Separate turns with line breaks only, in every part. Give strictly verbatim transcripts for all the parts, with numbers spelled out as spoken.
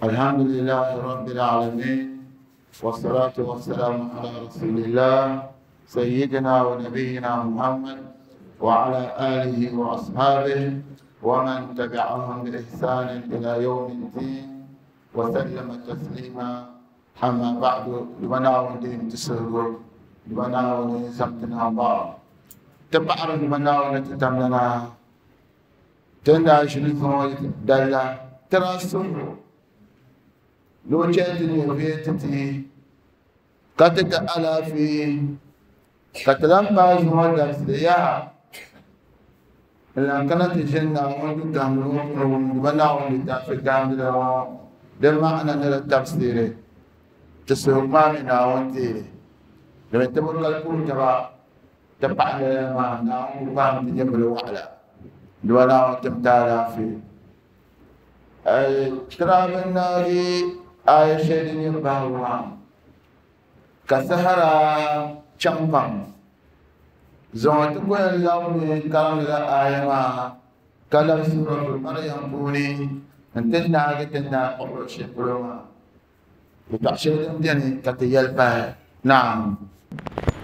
الحمد لله رب العالمين والصلاة والسلام على رسول الله سيدنا ونبينا محمد وعلى آله وأصحابه ومن تبعهم بإحسان إلى يوم الدين وسلم تسليما. أما بعد، لبنا ودين تسهل لبنا ودين سمتنا بعض تبعر لبنا ونتتمنا تندع شنو دلا تراسل لو جاتني بيتتي قتت على في قتلان باز مدرس يا لأن كانت الجنة وانتو تعملون لبنا ونتعفي ده معنى التفسير تسهل ما منا وانتي لما تبقى الكل تبع تبع ما نعم وفهم تجمل وعلى دولا وتمتالا في ترى من ناري آية شيء يبهوا كسهرة شمبام زوجت كل يوم كلام لا آية ما كلام سورة مريم بوني أنت ناقة تنا قبل شيء كلما نعم.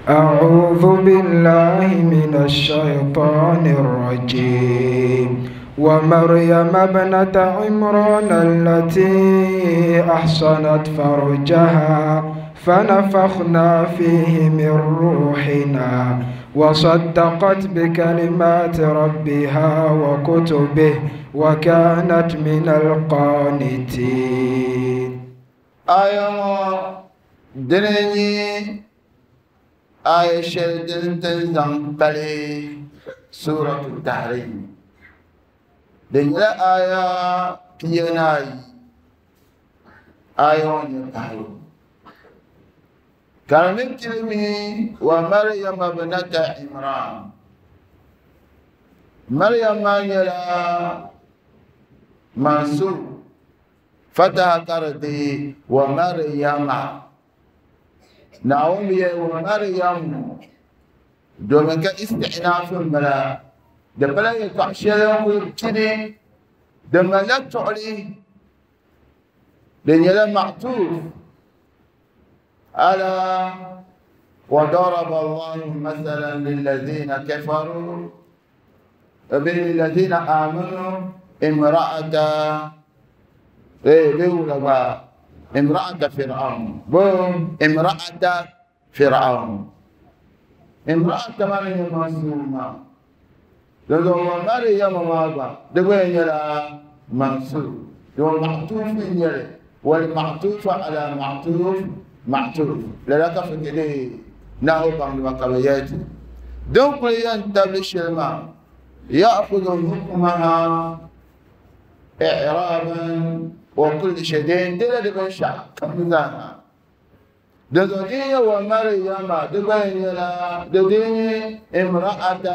أعوذ بالله من الشيطان الرجيم. ومريم ابنة عمران التي أحصنت فرجها فنفخنا فيه من روحنا وصدقت بكلمات ربها وكتبه وكانت من القانتين.
آية دنيني آية شدن تنزم سورة التحريم دنيا آية بيناي آية التحريم كان كلمي ومريم ابنة عمران. مريم ما يلا منصوب فتح كردي ومريم نعومي ومريم دومك استعناف الملا دبلا يتعشى ويبتدي دم لا تعلي لأن معطوف على وضرب الله مثلا للذين كفروا بالذين آمنوا امرأة إيه بيقولوا بقى امرأة فرعون بوم امرأة فرعون امرأة مريم منصومة لو مريم ما دبين يلا منصوب لو معطوف يلا والمعطوف على معطوف معطوف لا تفك ليه نهو بعض المقاليات دونك ينتبه الماء يأخذ حكمها إعرابا وكل شيء دل بنشا كمزانا دزوجية ومريم دبين يلا دديني امرأة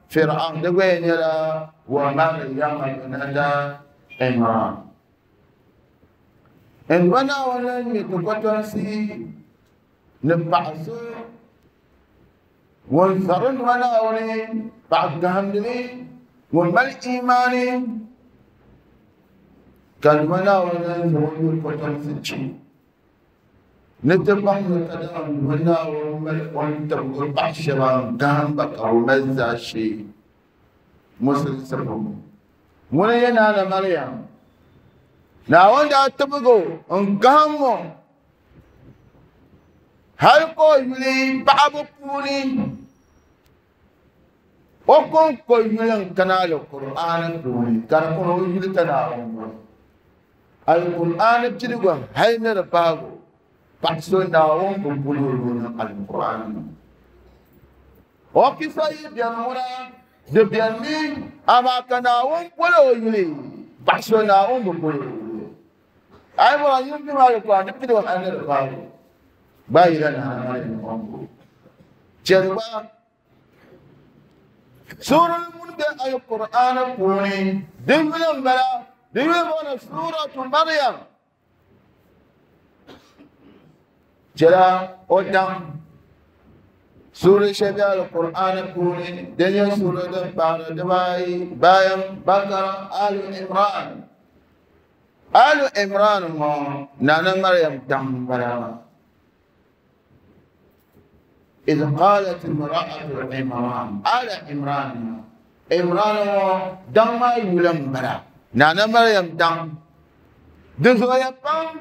فرعون دبين يلا ومريم ابنة عمران إن بنا ولن يتقطنسي نبعثو ونثرن ولا ولين بعد جهنمي ومل إيماني كان ولا ولا يقول نتبع نتدعم ولا ومل وانتبع بعشرة جنبك أو مزع شيء مسلسل ولا ينال مريم نعود أتبعه انقامه هل قولي بعض قولي وكم قولي كنال القرآن قولي كان قولي كنال القرآن بتلقى هاي نرباه بحثنا وهم بقولون القرآن وكيف يبينونا دبيني أما كنا وهم بقولوا بحثنا وهم بقولوا أي مرة يمكن ما القرآن بتلقى هاي نرباه بايرنا جربا سورة المنبه القرآن قولي دبين بلا دبينا سورة مريم جلا قدام سورة شبيه القرآن قولي دنيا سورة بعد دباي بايم بقرة آل عمران آل عمران نانا مريم دمبرا إذ قالت امرأة عمران آل عمران عمران دم يلمبرا نانا مريم دم دزويا بام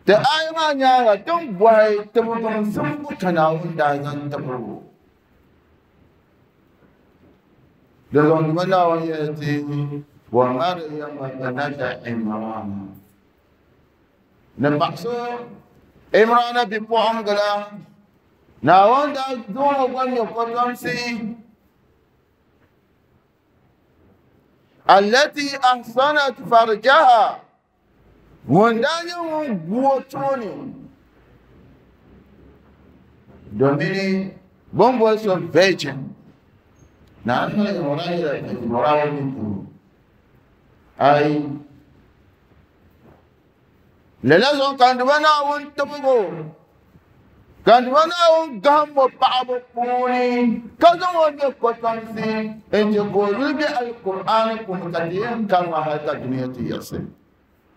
تآيما نيارا دم بوي تبغم سمبو تناون دازن تبغو دزون منا ويأتي ومريم بنت عمران نبحثو عمران بفوانغلا ناوان دا دون وان يقدمسي التي أحصنت فرجها وندان وغوتوني دوميني بومبو سو فيجن نعم عمران أي للازم كان دوانا وانتبغو كان دوانا وانقهم وبعض قوني كذا وانقطنسي انت قولوا بي القرآن كم كتير كان وحياة الدنيا تيسي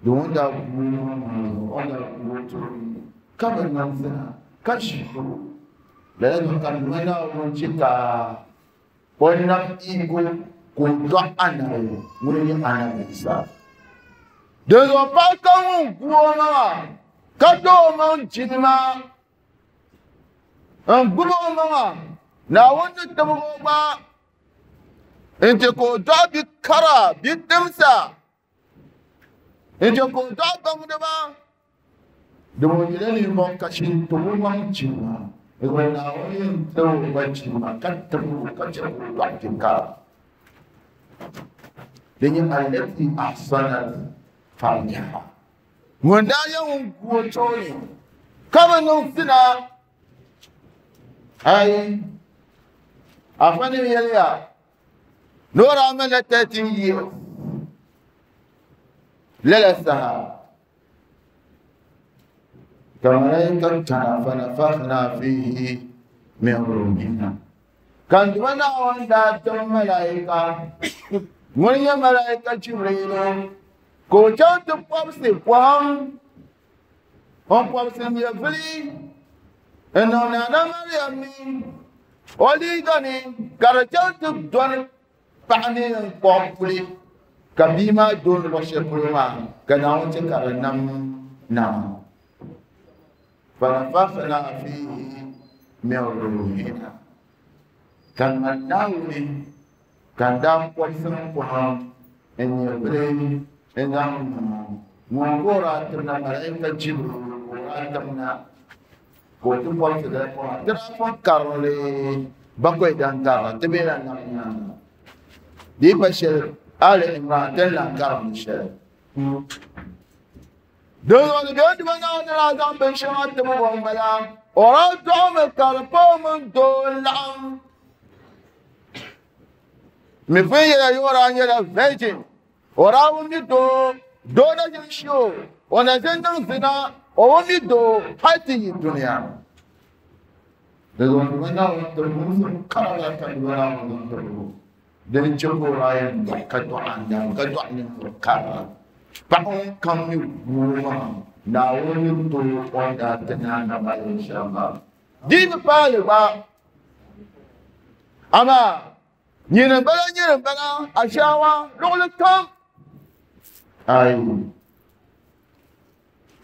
دون دا قولوا كبر ننسنا كشفوا للازم كان دوانا وانشكا ونم إيقو كنت أنا وني أنا إيسا دزو باكا ونقوما كدو من جنما انقوما ناوند تبغوما انت كنت بكرا بتمسا انت كنت بمدما دمو من كشين تبغوما جنما وناوين تو بجنما كتبو كتبو بعدك لأن التي أحسنت فرجها وندايا ونقوتوني كما ننسنا أي أفني يليا نور عمل تاتي للسها كما فنفخنا فيه من روحنا كان دوانا وندا تم ملائكة ونيا ملائكة جبريل كوجان تبقى قوام هم بوبسي ميفلي إنه نانا مريم وليدني كرجان تدون بعني قوم كبيما دون وشكرما كناون تكرنم نعم فنفخنا فيه من روحنا كان مناوني كان دام قوسن قوام إن يبلي إن مونغورا تمنا ملائكة جبريل تمنا كوتو قوس ده ترى كارلي بقوي دان تبينا نعم دي بشر آل عمران تلا كارم الشر دون دون بنا نرازم بشمات تبغون بلا ورادهم كربهم دولام مفيا يورا يلا فيجن وراهم يدو دونا يشو ونزلنا زنا وهم حتى الدنيا دون بنا تبغون كارلا تبغون تبغون دون جبوا كدو عندهم كدو عندهم كارلا بعون كم يقوم ناوي تو وندا تنانا ما إن شاء الله دين بالوا أما نين بلا نين بلا أشوا لول كم أي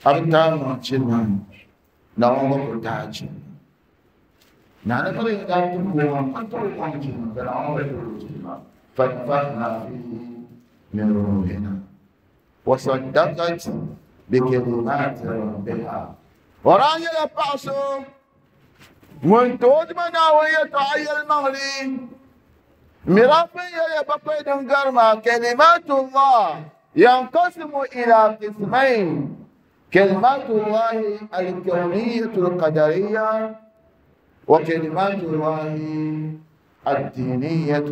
أبدا ما شنو ناوي ما بتاعش نانا بري دارتو ما تو وانجين بلا ما بتاعش فنفخنا فيه من روحنا وصدقت بكلمات ربها ورانا لبعصو من تود منا ويتعي المغرب مرافي يا بقي دنقرما كلمات الله ينقسم إلى قسمين كلمات الله الكونية القدرية وكلمات الله الدينية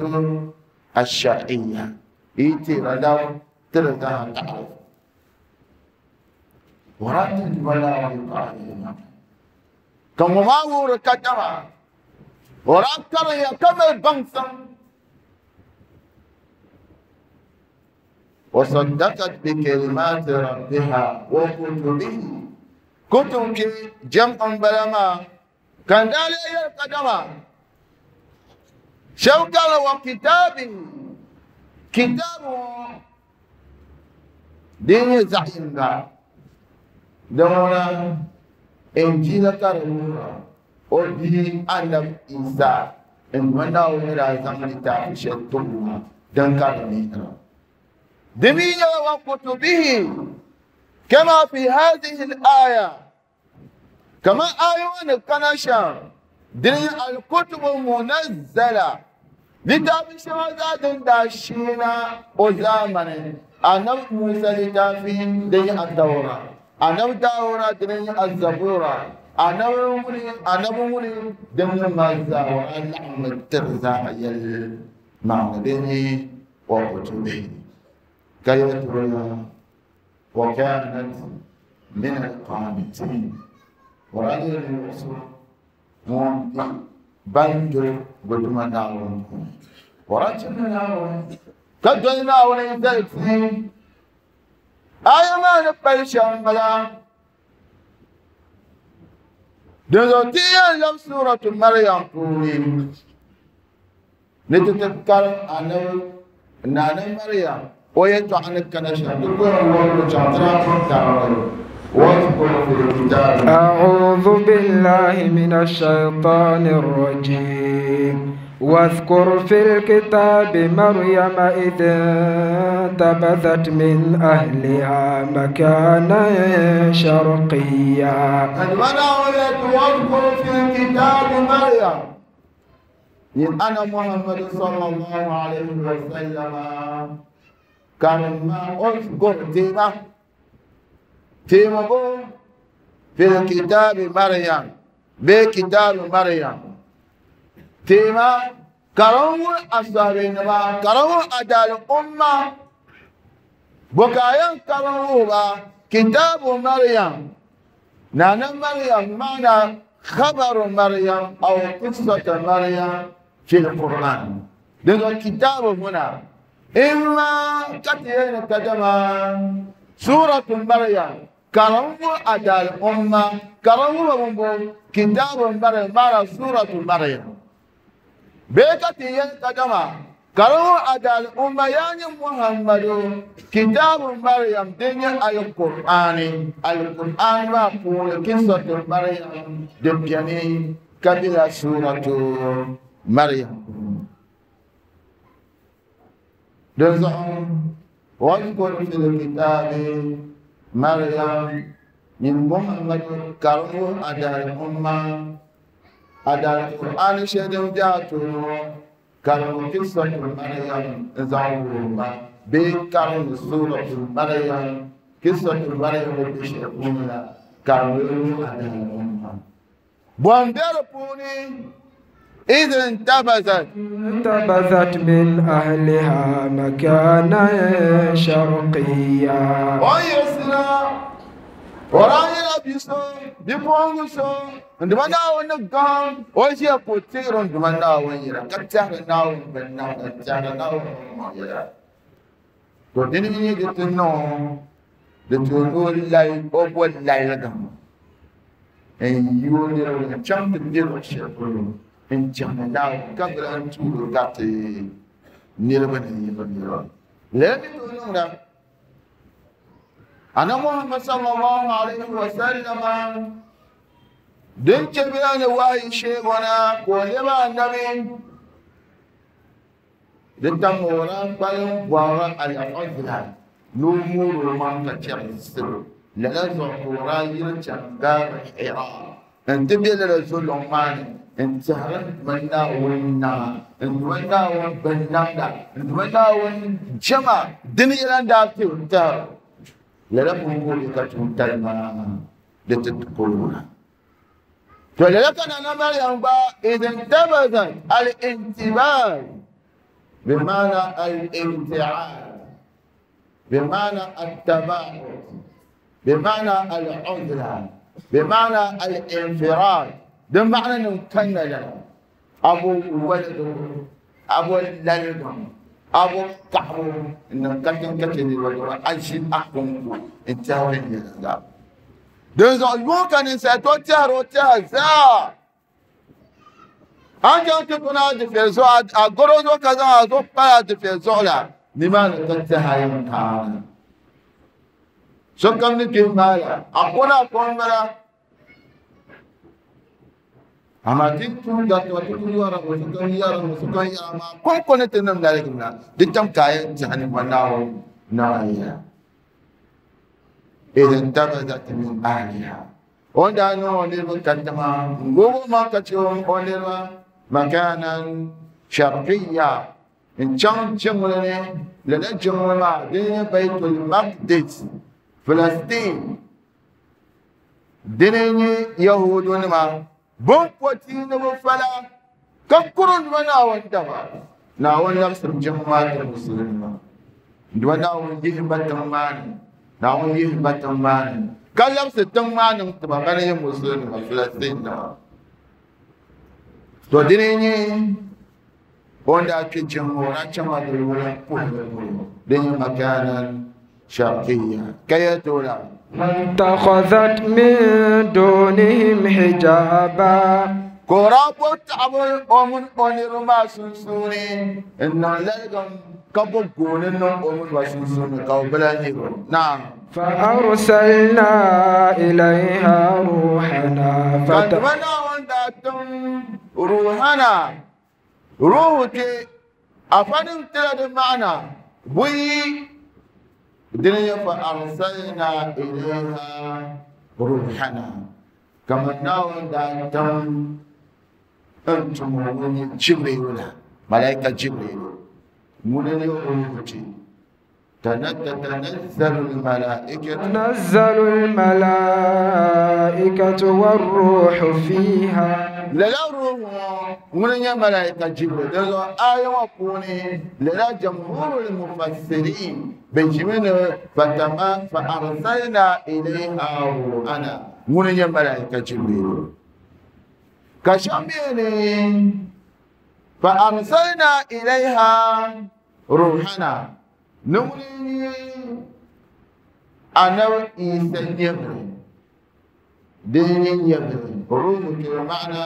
الشرعية إيتي ردو ترضى تعرف ورد ولا يقال كم ما هو ركتما وركر يا كم البنسم وصدقت بكلمات ربها وكتبه كتب جمع بلما كان ذلك القدمة شوكا وكتابه كتابه دين زعيم دونا إنجيل كرمورا أبي أنب إيسا إن منا ونرى زمن تعيش الدنيا دنكر دمية وكتبه كما في هذه الآية كما آيون كنشا دنيا الكتب المنزلة لتابع داشينا وزامن أنا موسى لتافين دنيا التوراة أنا التوراة دنيا الزبورة أنا مولي أنا مولي دنيا مازا وأنا ترزا يل معنى دنيا وكتبه كيترى وكانت من القانتين ورأي الرسول مونتي بندر قدما ناون ورجل ناون كدل ناون يزلتين آية ما نبال شمبلا دزوتيا لم سورة مريم قولي نتتذكر أنا نانا مريم
أعوذ بالله من الشيطان الرجيم واذكر في الكتاب مريم إذ انتبذت من أهلها مكانا شرقيا.
واذكر في الكتاب مريم أنا محمد صلى الله عليه وسلم كان ما أذكر تيمة تيمة في الكتاب مريم بكتاب مريم تيمة كرم أصحابين ما كرم أدال أمة بكايا كرم كتاب مريم نانا مريم معنى خبر مريم أو قصة مريم في القرآن لأن الكتاب هنا إما كتير كدما سورة مريم كرم أدال أمة كرم كتاب مريم معنى سورة مريم بكتير كدما كرم أدال أمة يعني محمد كتاب مريم دنيا القرآن القرآن ما قول قصة مريم دبياني كبيرة سورة مريم دزعم واذكر في الكتاب مريم من محمد كرم أدال أمة أدال القرآن شدم جاتو كرم قصة مريم زعوما بكرم سورة مريم قصة مريم بشرقنا كرم أدال أمة بوندر بوني إذ انتبذت
انتبذت من أهلها مكانا شرقيا.
ويسرا ورايا بيسو بيبونسو عندما نقام وجه كثير عندما ناويرا كثير ناو بنا كثير ناو يرا توديني يجتنو دتونو لاي أبو لاي لقام إن يونيرو كم تديرو شيء إن جانا قبل أن تقول قاتي نيربنا نيربنا لأن تقولون أنا محمد صلى الله عليه وسلم دين كبيران واي شيخنا كلما النبي دين تمورا قالوا وراء الأفضل نمور من كتير لا زورا يرجع دار الحراء أنت بيلا رسول الله انت منا ونا انت منا وبنا انت منا ونجمع دنيا لا دار لا بقول كتمتلنا لتدخلون فلذلك أنا مريم إذا انتبذت الانتباه بمعنى الابتعاد بمعنى التباعد بمعنى العزلة بمعنى الانفراد ده معنى نمكن لنا أبو ولد أبو للدم abu kaɣabu n niŋ katiŋ ka chɛ niriba dama a ʒi a kɔŋko n tɛhiri viɛnyɛliŋga dinzuɣu yuŋ ka ninsal tooi tɛhiri o tɛha zaa an chaŋ ti kuna a dufɛli zuɣu a garo zuɣu ka zaŋ a zuɣu pali a dufɛli zuɣu la nimaani ka tɛha yɛn kaana sokam ni kpɛ maa la a kɔna a kɔŋ bala amma ti tum da to ti ku yɔra o sokam yɛra o sokam yɛra maa kɔŋko ni ti niŋ laligim la di tam ka a yɛn tɛha ni Naawuni nama yɛla idh intabazat min ahliha o ni daa niŋ o niriba katiŋa n gbubi o maŋ ka chɛ o niriba makanan sharqiyya n chaŋ jiŋli ni lala jiŋli maa din nyɛ Baitul Maqdis Filistin dini nyɛ Yahudunima bin pɔti ni bi fala ka kuri nima Naawuni daba Naawuni labisiri jiŋ maa ti musulinima dama Naawuni yihi ba tiŋ maa ni Naawuni yihi ba tiŋ maa ni ka labisi tiŋ maa niŋ tiba bana nyɛ musulinima Filistin nima to dini nyɛ o ni daa kpe jiŋ ŋɔ o daa chaŋla di luɣili puhili polo din nyɛ makanan sharqiyya ka yɛltɔɣa
فاتخذت من دونهم حجابا
ka o daa bo taɣabu o mini o niriba maa sunsuuni n niŋ laligim ka bo gooni niŋ o mini ba sunsuuni ka o bi lahi nyɛ o naam
فأرسلنا إليها روحنا
ka
فت...
Duuma Naawuni daa tim ruhana ruhu ti afanim tila di maana buyi dini nyɛ fa arsalna ilayha ruhana kamar Naawuni daa tim n tum o ŋun nyɛ Jibrilu la malaika Jibrilu ŋuni n nyɛ ruhu ti تتنزل الملائكة
تنزل الملائكة والروح فيها
lala ruhu ŋuni nyɛ malaika Jibril dinzuɣu aya ŋɔ puuni lala jamhurul mufassirin bɛ ʒimi ni fatama fa arsalna ilayha ruhana ŋuni nyɛ malaika Jibril ka shɛm beni fa arsalna ilayha ruhana ni ŋuni nyɛ anabi Isa nyɛvili din nyɛ nyɛvili ruhu ti maana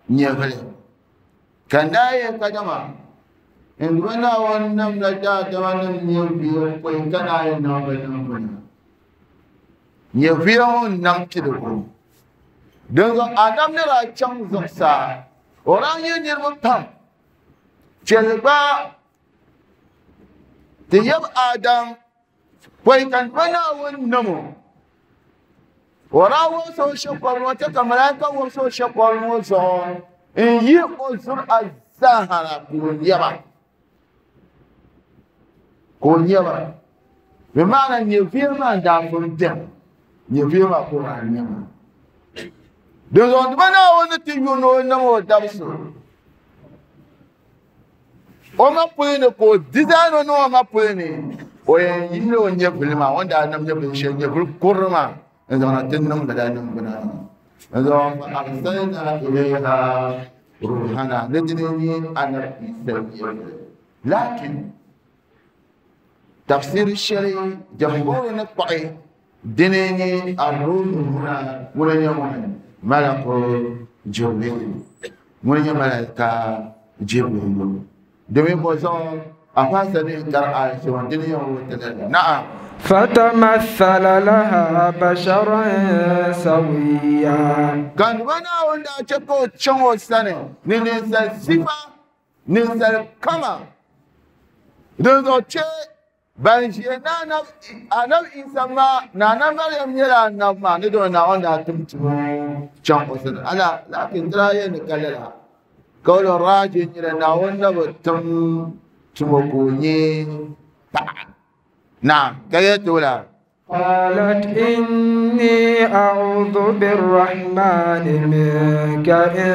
nyɛvili ka naayɛ kadama n Duuma Naawuni namla daadama nim nyɛviya pɔi ka naayɛ niŋ ba niŋgbuna nyɛviya ŋɔ n nam piligu dinzuɣu Adam ni daa chaŋ zuɣusaa o daa nyɛ niriba pam chɛli gba ti yab Adam pɔi ka Duuma Naawuni nam o o daa wumsi o shɛkɔri ŋɔ ti ka malaika wumsi o shɛkɔri ŋɔ zuɣu n yi o zuri a zaa na ka o nyɛba ka o nyɛba bi maana nyɛviya maa n daa pun bɛni nyɛviya maa ka o daa nyɛba dinzuɣu Duuma Naawuni ni ti yu ni o nam o dabisi o ma puli ni ka o dizaani o niŋ o ma puli ni o yɛn yihila o nyɛvili maa o ni daa nam nyɛvili shɛli nyɛvili kurili maa n zaŋna ti niŋ lala niŋgbuna n zaŋ fa arsalna ilayha ruhana ni dini nyɛ anabi Isa nyɛvili lakin tafsiri shɛli jamhuri ni kpaɣi dini nyɛ arruhu huna ŋuni nyɛ ŋuni malaku Jibril ŋuni nyɛ malaika Jibril domin bɔ zuɣu a faasa ni kari aya shɛŋa dini nyɛ ŋun ti lala na'am
فتمثل لها بشرا سويا
ka Duuma Naawuni daa chɛ ka o chaŋ o sani ni ninsal sifa ninsal kama dinzuɣu chɛ ban ʒiya na anabi Isa maa Nana Mariam nyɛla anabi maa ni dama Naawuni daa tim tim chaŋ o sani ala lakin ti daa yɛn ni ka lala ka o raaji nyɛla Naawuni na bi tim tumo ka o nyɛ paɣa naam ka yɛltɔɣa
قالت إني أعوذ بالرحمن منك إن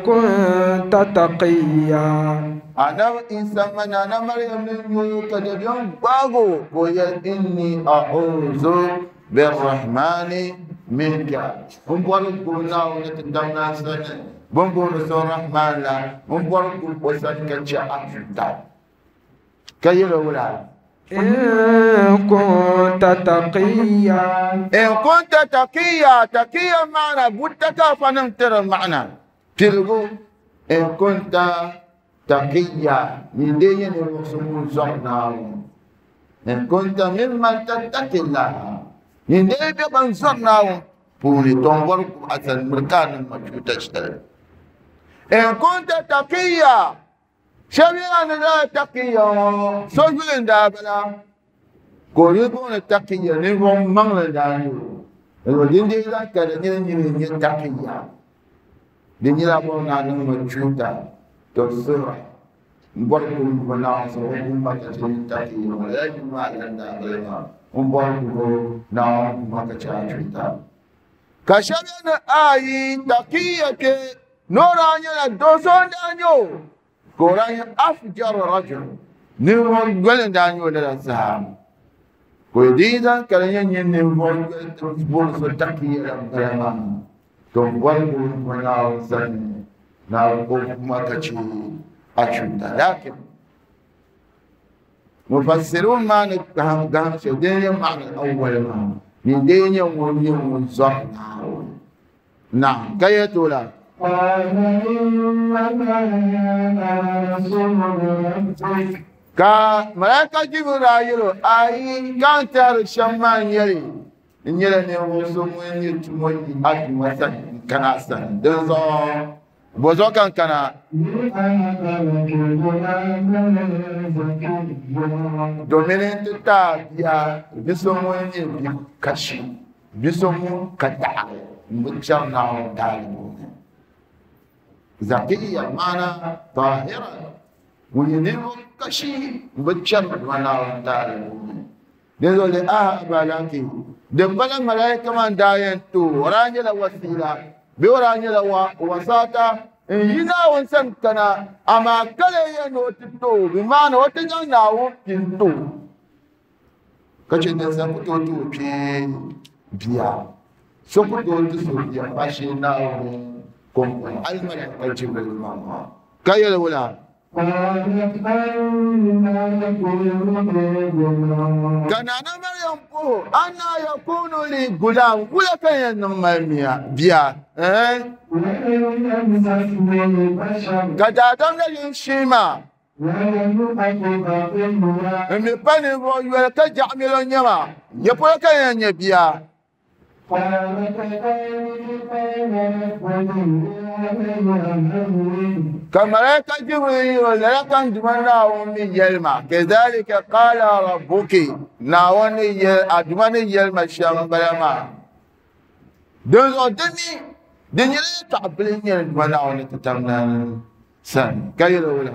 كنت تقيا
anabi Isa ma Nana Mariam ni nyɛ ka dabiɛm gbaago ka o yɛli inni a'udhu birrahmani minka n bɔri gbubi Naawuni ti damna sani bin booni so Rahman la n bɔri gbubi o sani ka chɛ a tuuta Ka yɛl o wula?
إن كنت تقيا
إن كنت تقيا تقيا معنى بوتك فنمتر معنى تلقو إن كنت تقيا من دين الرسول زرنا إن كنت ممن تتقي الله من دين بيبان زرنا بوني تنبرك أسن مركان مجهود تشتري إن كنت تقيا شبيان لا تقيا سجل دابلا كوريبون تقيا نبون مغل دانيو الودين دي لا كدنين نين تقيا دين لا بونا نمجهود تصير مبارك بنا سوهم ما تشين تقيا ولا يجمع لنا بلا مبارك بنا ما تشين كشبيان آي تقيا كي نورانيا دوسون دانيو كورانيا أفجر رجل نيرون قلن دانيو لا سهام كويديدا كلنيا نيرون بولس تقيا لما تنبارك بنا سن ناركم ما تشي أشوتا لكن مفسرون ما نفهم قام شدين معنى الأول ما من دين يوم يوم زهر نعم كي تقول
قال إنما أنا رسول ربك
كا ملائكة جبرائيل أي كان تار شمان يلي إن يلي نيوسم يتموي أتمسك كناسا دزو بوزو كان كنا دومين تتا بيا بسمو يني بكشي بسمو كتا مجرنا دالو زكية معنى طاهرة ويني كشي مجرنا دالو دزو لآه أبالاكي دبلا ملائكة من داين تو وراني لوسيلة بوراني لو وساطة ينا ونسن كنا أما كله ينوتتو بمعنى وتجنا وبينتو كشي نسان كتو بي بيا سكتو تسو بيا فاشينا كم الملائكة جبريل ماما كيا ولا كان أنا مريم بو أنا يكون لي غلام ولا كان ينمى بيا إيه كذا لا ينشيما مي باني بو يولا كجعمل نيما يبولا كان يبيا كملائكة جبريل لكن دمنا أمي يلما كذلك قال ربك ناوني أدمني يلما شام بلما دوزو دمي دنيا تعبلين يلما أوني تتمنى سن كيلو ولا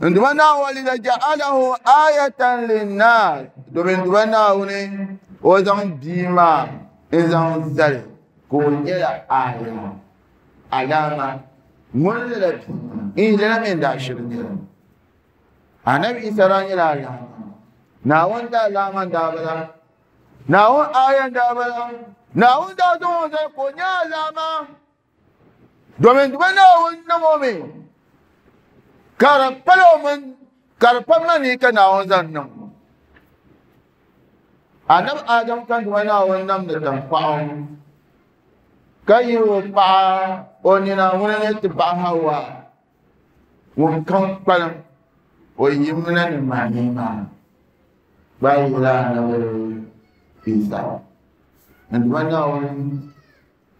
عندما ولد جعله آية للناس دومين دوانا وني وزن بيما إذن زل كون يلا آية علامة مولد إن لم ينداشر أنا بإسرائيل يلا علامة ناون دا علامة دابلا ناون آية دابلا ناون دا زون زل كون يلا علامة دومين دوانا ونمومي كاربلو من كاربمني كناون زنم أنا آدم كان وانا ونم نتنفعهم كي يوقع وننا ونتبع هوا وكم قلم ويمنا المعنيما بايلا نبي إيسا عندما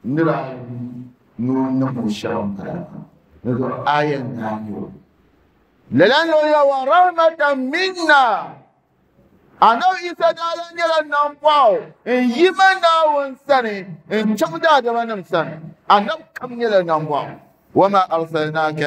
نرى نمشي نقول آية نانيو لأنه ورحمة منا أنا إذا دالن يلا نمباو إن يمنا ونسني إن شمدا دمنا نسني أنا كم يلا نمباو وما أرسلناك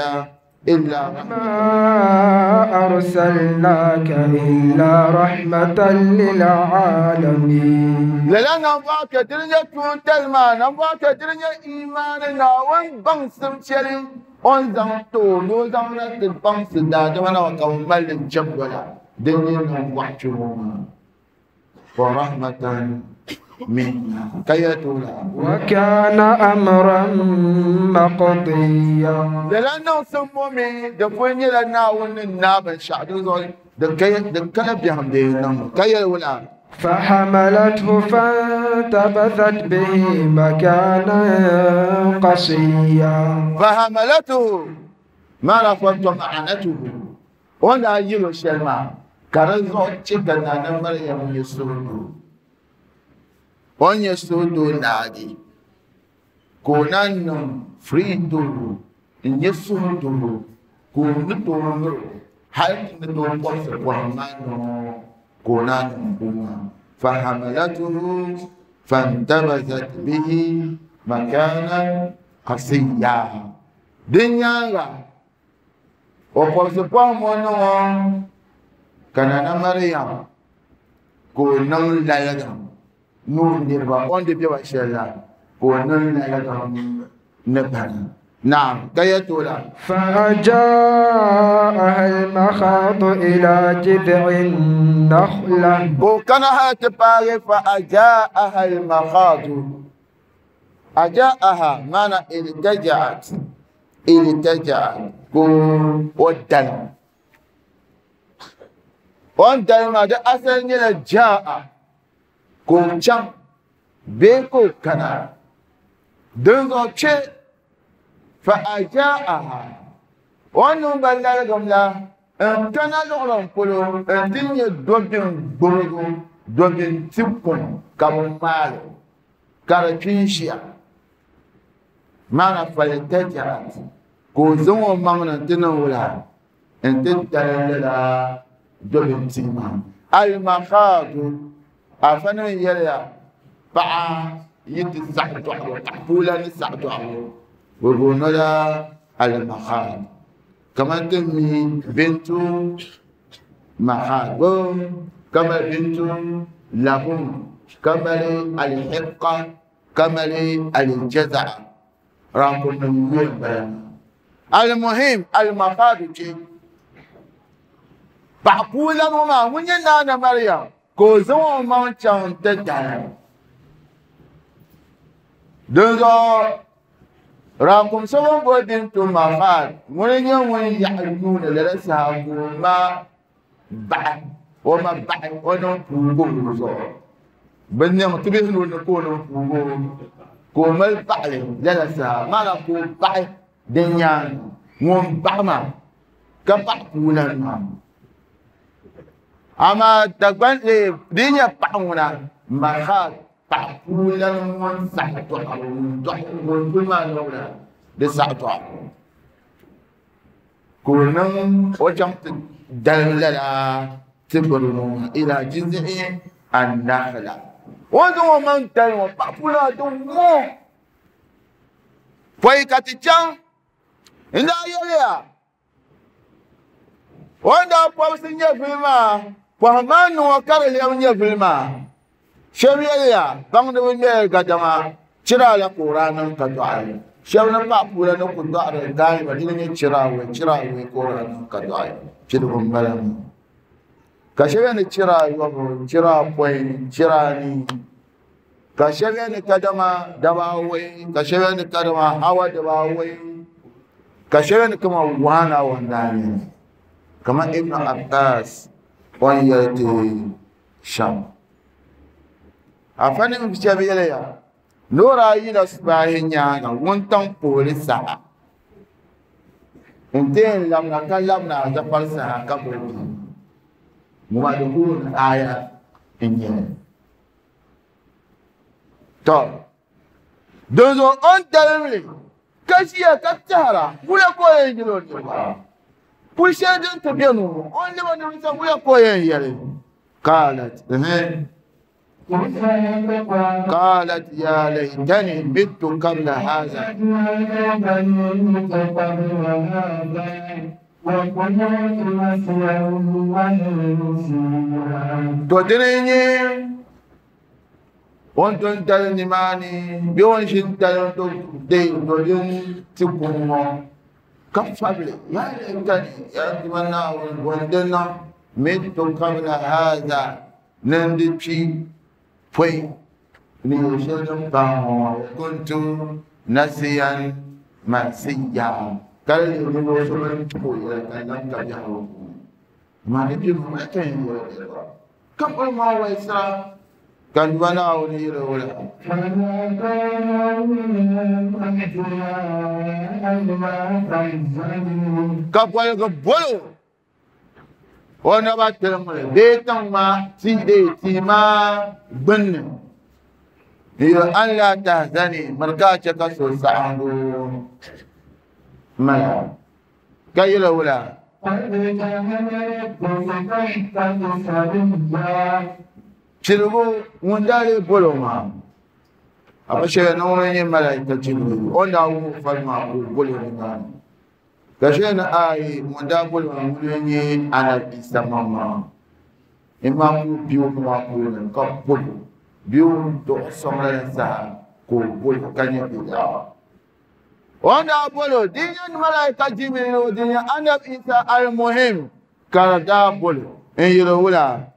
إلا
ما أرسلناك إلا رحمة للعالمين.
لأن نمباو كدرنا تون تلما نمباو كدرنا إيماننا ونبنسم شرين on zang to no zang na ti bang si da da mana wa ka mal jab wala den ni na wa chu ma ورحمة منا كيتولا
وكان أمرا مقضيا
لأنه سمومي دفوني لنا ونناب الشعب دكنا بهم دينهم كيتولا
فحملته فانتبذت به مكانا قصيا
فحملته ما رفضت معنته وانا يلو شلما كرزو تشكنا مريم يسودو وان يسودو نادي كونان فريدو ان يسودو كونتو مر هل نتو قص وهمانو كونان فحملته فانتبذت به مكانا قصيا دنيا وقصقوا منو كان مريم كونان لا نور نربا اون دي بيوا شلا كونان لا نبان نعم كيتولا
فأجاءها المخاض إلى جذع النخلة
وكانها تباري فأجاءها المخاض أجاءها معنى التجأت التجأت ودل ودل ما ده أصل نيلا جاء كون بيكو كنا دنزو تشي فأجاءها وأنهم بلغهم لا أن تنالوا كلو أن تنيا دوبين بورغو دوبين تبكم كمال كاركينشيا معنى فلتجأت كوزون معنى تنولا أن تتللا دوبين تيما المخاض أفنى يلا بقى يتسعدوا تحفولا نسعدوا وقلنا المخاض كما تمي بنت مخاض كما بنت لهم كما الحقة كما الجزع راكم من المهم المخاض بعقولا ما ونينا مريم كوزو ما تشان دزو راكم سوون بودين تو مخاد وني وني يعلمون لرسها ما بعد وما بعد ونو بوغو بنيم تبيه نكون بوغو كومل بعد لرسها ما نكو بعد دنيا ون بعما كبع بولان اما تقبل دنيا بعونا مخاد بعقولا ون سعتو ون كل ما نولا لسعتو كنا وجمت دللا تبرنون إلى جذع النخلة وذو من تلو بعقولا دمو فايكاتيشان إن يليا وندا بوسنيا فيلما فهمان وكر اليوم فيلما شبيليا بangde wonde gadama chira la qur'an ka du'a shabna ba pula no ku du'a dai ba dine chira we chira we qur'an ka du'a chidu balam ka shebe ni chira yo chira poi chira ni ka shebe ni kadama daba we ka shebe ni kadama hawa daba we ka shebe ni kama wana wandani kama Ibn Abbas on yati sham afani mshabiyeleya nora yila subahi nyaaŋa wuntaŋ pooli saha n ti yɛn labina ka labina azafari saha ka bɔ bi ŋuma di guuni aya n nyɛli tɔ dinzuɣu o ni dalimli ka ʒiya ka tɛhira wula ka o yɛn yɛli o niriba puli shɛli din ti bɛ ni ŋɔ o ni lɛbi o niriba sani wula ka o yɛn yɛli kaalat قالت يا ليتني مت قبل هذا تدريني وانتم تلنماني بيونشن تلنتم دي تدرين تكون كفبلي يا ليتني يا تمنى وندنا مت قبل هذا ni di kpi pɔi ni yɛl shɛli din pahi ŋɔ kuntu nasiyan mansiya ka di leei ninvuɣu so bin tuhi o yɛla ka lam ka biɛhigu puuni amaa di piligu maa ka yɛn yɛli niriba ka kuli maa walisira ka Duuma Naawuni yɛli o la ka boligi bolo o naba tiliŋli bee tiŋ maa tii dee tii maa gbunni n yɛli an laa tahzani miri ka a chɛ ka so saɣingu mala ka yɛli wula piligu ŋun daa lee bolo maa a pa shɛli ni ŋuni n-nyɛ malaika Jibril o ni daa wuhi o fali maa ka o bolo nimaani ka shɛli ni ayi ŋun daa bolo maa ŋuni n-nyɛ Anabi Isa maŋmaŋ imaa ka o be o maa puuni ka bolo bee o duɣi sɔŋ lala saha ka o bolo ka nyɛ bilaɣu o ni daa bolo di nyɛ malaika Jibril o di nyɛ Anabi Isa almuhim ka di daa bolo n yɛli wula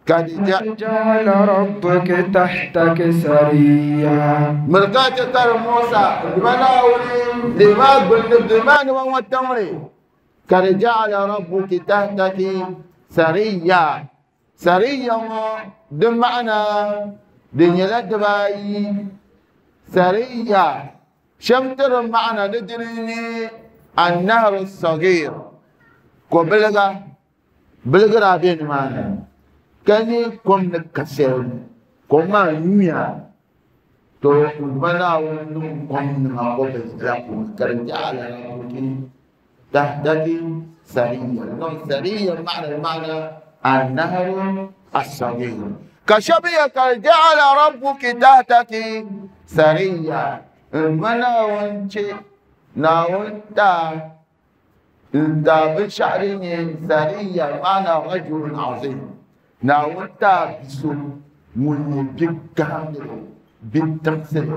قد
جعل ربك تحتك سريا
مرقات تر موسى لما لما قلنا والتمر قد جعل ربك تحتك سريا سريا دمعنا دنيا دباي سريا شمتر معنا ندرني النهر الصغير قبلغا بلغرا بين معنا كني كم نكسر كم ما نيا تو منا ونم كم نقبل لكم كرجال تحتك سريا نم سريا معنى المعنى النهر الصغير كشبيه كجعل ربك تحتك سريا منا ونشي ناونتا دا بشعرين سريا معنى رجل عظيم ناونتا بسو من بكامل بالتمثيل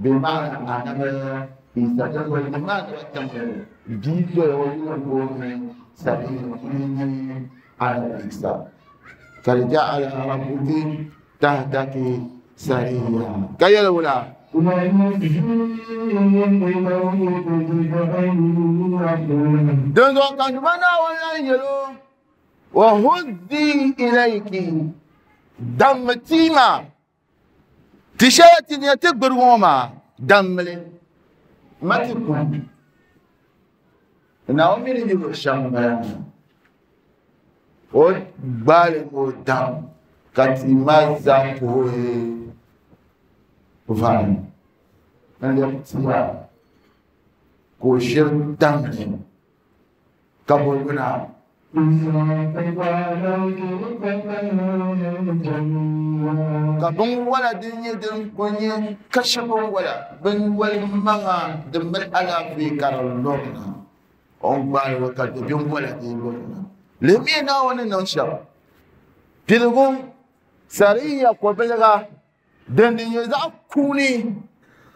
بمعنى أنا إذا جزء المعنى والتمثيل بيزو يقول سريا على الإنسان فجعل ربك تحتك سريا كي الأولى دون كان منا ولا يلو وهدي إليك دم تيما تشاتي يتكبر وما دم لي ما تكون نعومي اللي بشام o gbaali o dam ka tii maa zaa puhi vari n lɛbi tia ka o shiri damli ka bo luna ka binwala din nyɛ din ku nyɛ kashi binwala binwali maŋa din mali alaafee ka di lɔrina o ni gbaali o ka do binwala din lɔrina lemi naawuni niŋ shɛm piligu sariya kobiliga din din nyɛ zaɣ kuuni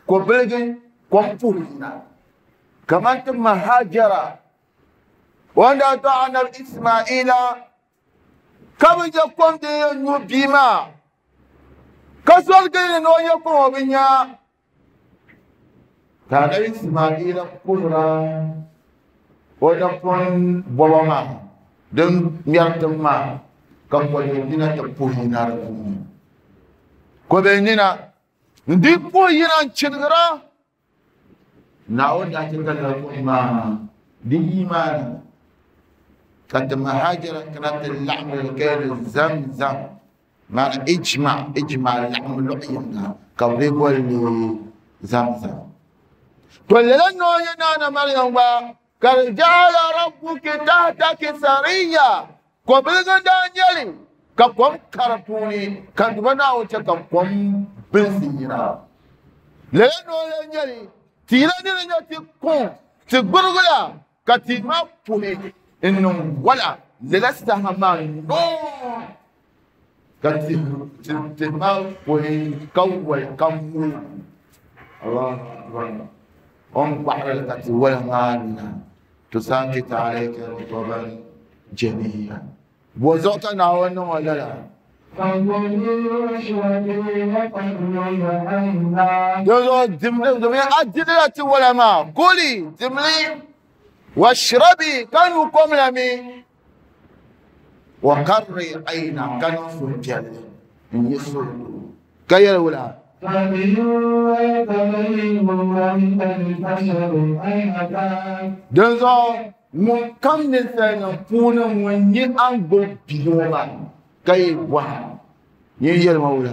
kobiligi kom puhi yina kamani ti mahajara wanda tɔɣa anabi Ismaila ka bi je kom din yɛn nyu bia maa ka soligi ni ni o nyɛ kom o bi nya ka anabi Ismaila kuhira o napɔŋ bɔba maa din ŋmɛri tiŋ maa ka kɔbɛ nina ti puhi yina di puuni kɔbɛ nina n di puhi yina n chirigira Naawuni daa chɛ ka lala kum maa di yi maa ni ka ti mahajira kana ti laɣim li ka yɛli zamzam maana ijma ijma laɣim luɣ yinga ka bi boli li zamzam to lala noo nyɛ Naana Mariam gba قد جعل ربك تحتك سريا قبل دانيالي كقوم كرتوني كدبنا وتكقوم بنسينا لأنه لانيالي تيراني لنيا تكون تغرغلا كتيما بوهي إنه ولا للستها ما نو كتيما بوهي كول كمو الله أكبر أم بحر الكتي ولا مالنا تساقط عليك رطبا جنيا وزوكا ناونا ولا لا Dinzuɣu dimli domin a dirila tiwala maa kuli dimli washrabi ka nyu kom la mi wa qarri ayna ka niŋ suhupiɛlli n yi suhudu ka yɛli wula dinzuɣu ŋun kam ninsalinima puuni ŋun nyɛ a ni gbubi bia ŋɔ maa ka yi bɔha nyin yɛlima wula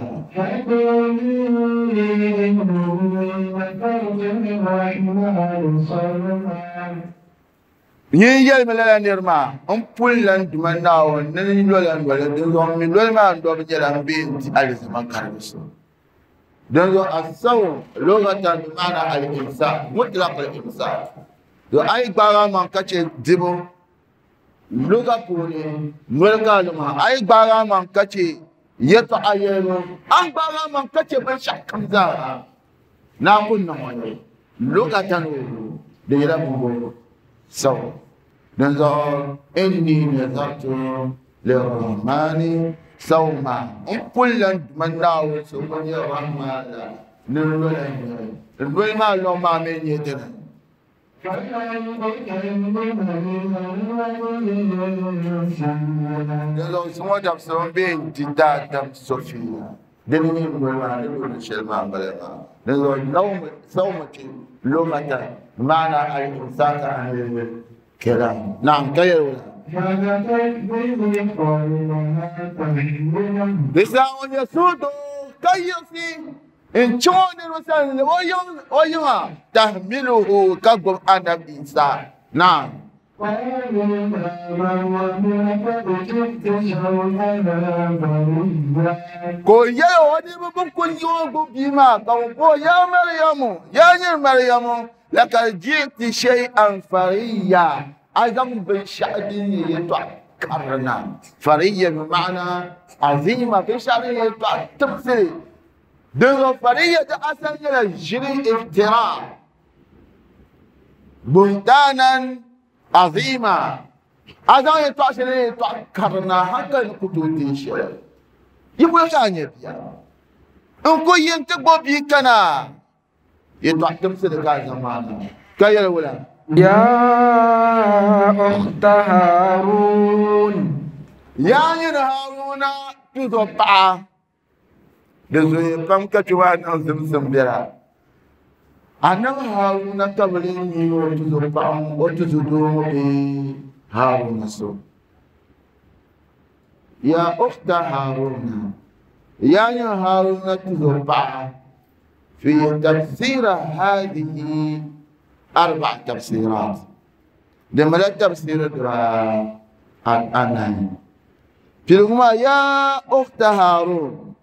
nyin yɛlimi lala niri maa n puli la n Duuma Naawuni ni n lola noli dinzuɣu n mi noli maa n dɔbu nyɛla n bee n di alizama karibu so dinzuɣu as-sawm lughatan bi maana al-imsak mutlaq al-imsak to a yi gbaagi a maŋ ka chɛ dibu luga puuni noli ka a luma a yi gbaagi a maŋ ka chɛ yɛltɔɣa yɛlibu a ni gbaagi a maŋ ka chɛ binshɛɣu kam zaa naa ku niŋ o ni lugatan di nyɛla bumbu saw dinzuɣu inni nazartu lirrahmani sawma n pulila n Duuma Naawuni so ŋun nyɛ Rahman la ni n lola noli n noli maa lɔŋ maa mi nyɛ dini Dinzuɣu zuŋɔ dabisili ŋɔ bee n-di daadam so fiila dini nyɛ noli maa ni lɔri shɛli maa m-bala maa. Dinzuɣu sawmu ti lughatan maana al-imsaka anil kalam. Naam, ka yɛli wula? Di saha ŋɔ nyɛ suhudoo ka yiɣisi n chaŋ o niriba sani ni o yiŋa tahmiluhu ka gbubi Anabi Isa. Naam. Ka o yɛli o niriba bɛn kul yi o gbubi bia maa ka bɛ bɔh o, Yaa Mariamu, yaa nyini Mariamu, lakad ji'ti shay'an fariyya, a zaŋ binshɛɣu din nyɛ yɛtɔɣ karili na. Fariyya bi maana azima, binshɛɣu din nyɛ yɛtɔɣ tibisili. Dinzuɣu fariyya di asali nyɛla ʒiri iftira, buhtaanan azima. A zaŋ yɛtɔɣ shɛli din nyɛ yɛtɔɣ karili na hankali ni ku tooi deei shɛli. Yi boli ka a nyɛ bia n ku yi nti gbubi bia kana yɛtɔɣ tibisili ka a zaŋ maa na ka yɛli wula?
Ya ukhta Harun.
Yaa nyini Haruna tuzo paɣa. Di zoya pam ka kpe maa niŋ zimsim biɛla. Anabi Haruna ka bɛ lee mi o tuzo paɣa ŋɔ, o tuzo doo ŋɔ bee Haruna so. Ya ukhta Haruna, yaa nyini Haruna tuzo paɣa, fi tafsira hadihi arba'a tafsirat. Di mala tafsiri dibaa anahi. Piligu maa, yaa ukhta Harun,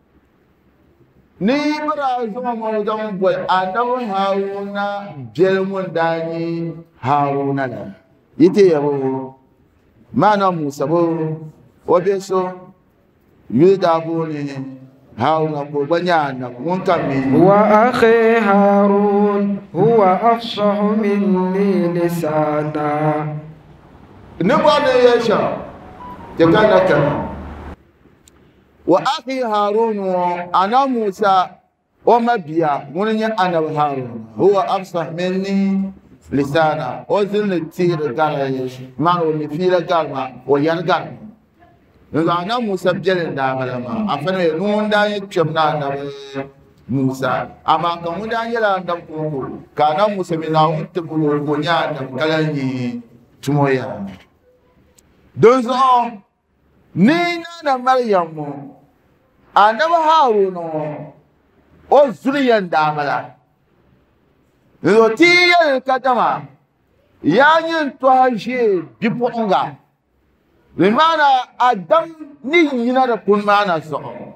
ni yi bi daa zaŋ o ŋɔ zaŋ boli Anabi Haruna biɛli ŋun daa nyɛ Haruna la, yi ti yɛri o maana Musa bo o biɛ so yuli daa booni Haruna ka o gba nyɛ anabi ŋun ka mi.
Wa akhi Harun huwa afsahu minni lisana.
Ni bɔri ni yɛli shɛm ti ka na kana. Wa akhi Harun ŋɔ ana Musa o ma bia ŋuni nyɛ anabi Harun huwa afsah minni lisana o zinli teeri gari maana o mi fiila gari ma o yɛri gari ma. Dinzuɣu anabi Musa biɛli n-daa bala maa afa ni ŋun daa nyɛ kpɛm ni anabi Musa amaa ka ŋun daa nyɛla anabi kɔŋko ka anabi Musa mi Naawuni tibigi o ka o nyɛ anabi ka lahi nyɛ tumo yaa. Dinzuɣu ni Naana Mariam ŋɔ anabi Haruna ŋɔ o zuliya n-daa bala. Dinzuɣu ti yi yɛli kadama yaa nyin tɔha ʒee bipuɣiŋga di maana Adam ni yina di kuni maana zuɣu.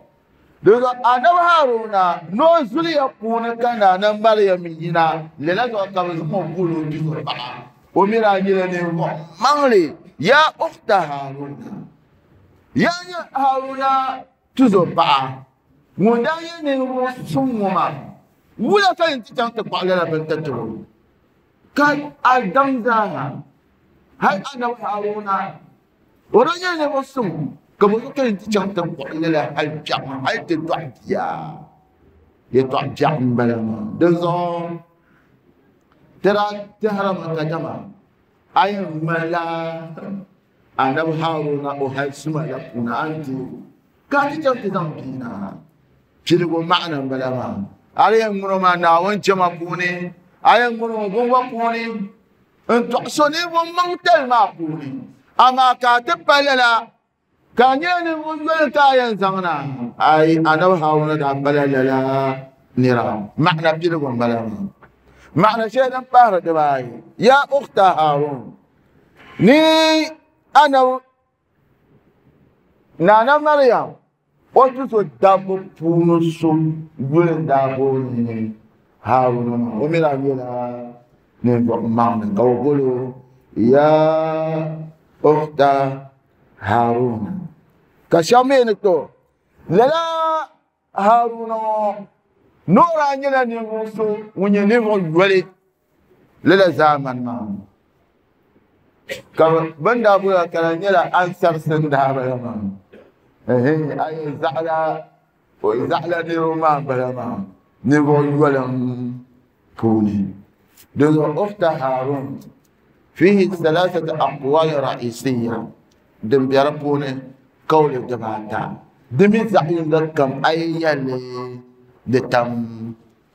Dinzuɣu anabi Haruna ni o zuliya puuni ka Naana Mariam yina lala zuɣu ka bɛ zaŋ o guuli o bizuɣu paɣa. O mi daa nyɛla ninvuɣ maŋli. Yaa ukhta Haruna, yaa nyɛ Haruna tuzo paɣa ŋun daa nyɛ ninvuɣ suŋ ŋɔ maa, wula ka yin ti chaŋ ti kpuɣi lala bintatabo ka a daŋ zaaha? Hal anabi Haruna o daa nyɛla ninvuɣ suŋ ka Ka bo ka ti chaŋ ti buɣili la hali biɛɣu hali ti dɔɣi bia yɛltɔɣa biɛɣu n bala maa dinzuɣu ti daa tɛhirimi kadama a yɛn ŋmanila anabi Haruna o hali suma la puuni a ni deei ka a ti chaŋ ti zaŋ bia na piligu maɣana n bala maa a di yɛn ŋmani o maa Naawuni jɛma puuni a yɛn ŋmani o bingba puuni n tɔɣi so ninvuɣu maŋtali maa puuni amaa ka a ti pa lala ka a nyɛla ninvuɣu yoli ka a yɛn zaŋ na ayi anabi Haruna daa pala lala nira maɣana piligu n bala maa maɣana shɛli din pahiri dibaayi ya ukhta Harun ni anabi Nana Mariam o tuso dabba puuni so yuli n daa booni Haruna maa o mi daa nyɛla ninvuɣu maŋli ka o boli o ya ukhta Haruna ka shɛba mi ni to lala Haruna ŋɔ ni o daa nyɛla ninvuɣu so ŋun nyɛ ninvuɣu yoli lala zaamani maa ka bin daa boli ka di nyɛla ansarisi n daa bala maa a yi zaɣala o zaɣala niriba maa n bala maa ninvuɣu yolim puuni dinzuɣu ukhta Harun fihi thalathatu aqwal ra'isiyya din bɛ di puuni kawli dibaata di mi zaɣ yinga kam a yi yɛlli di tam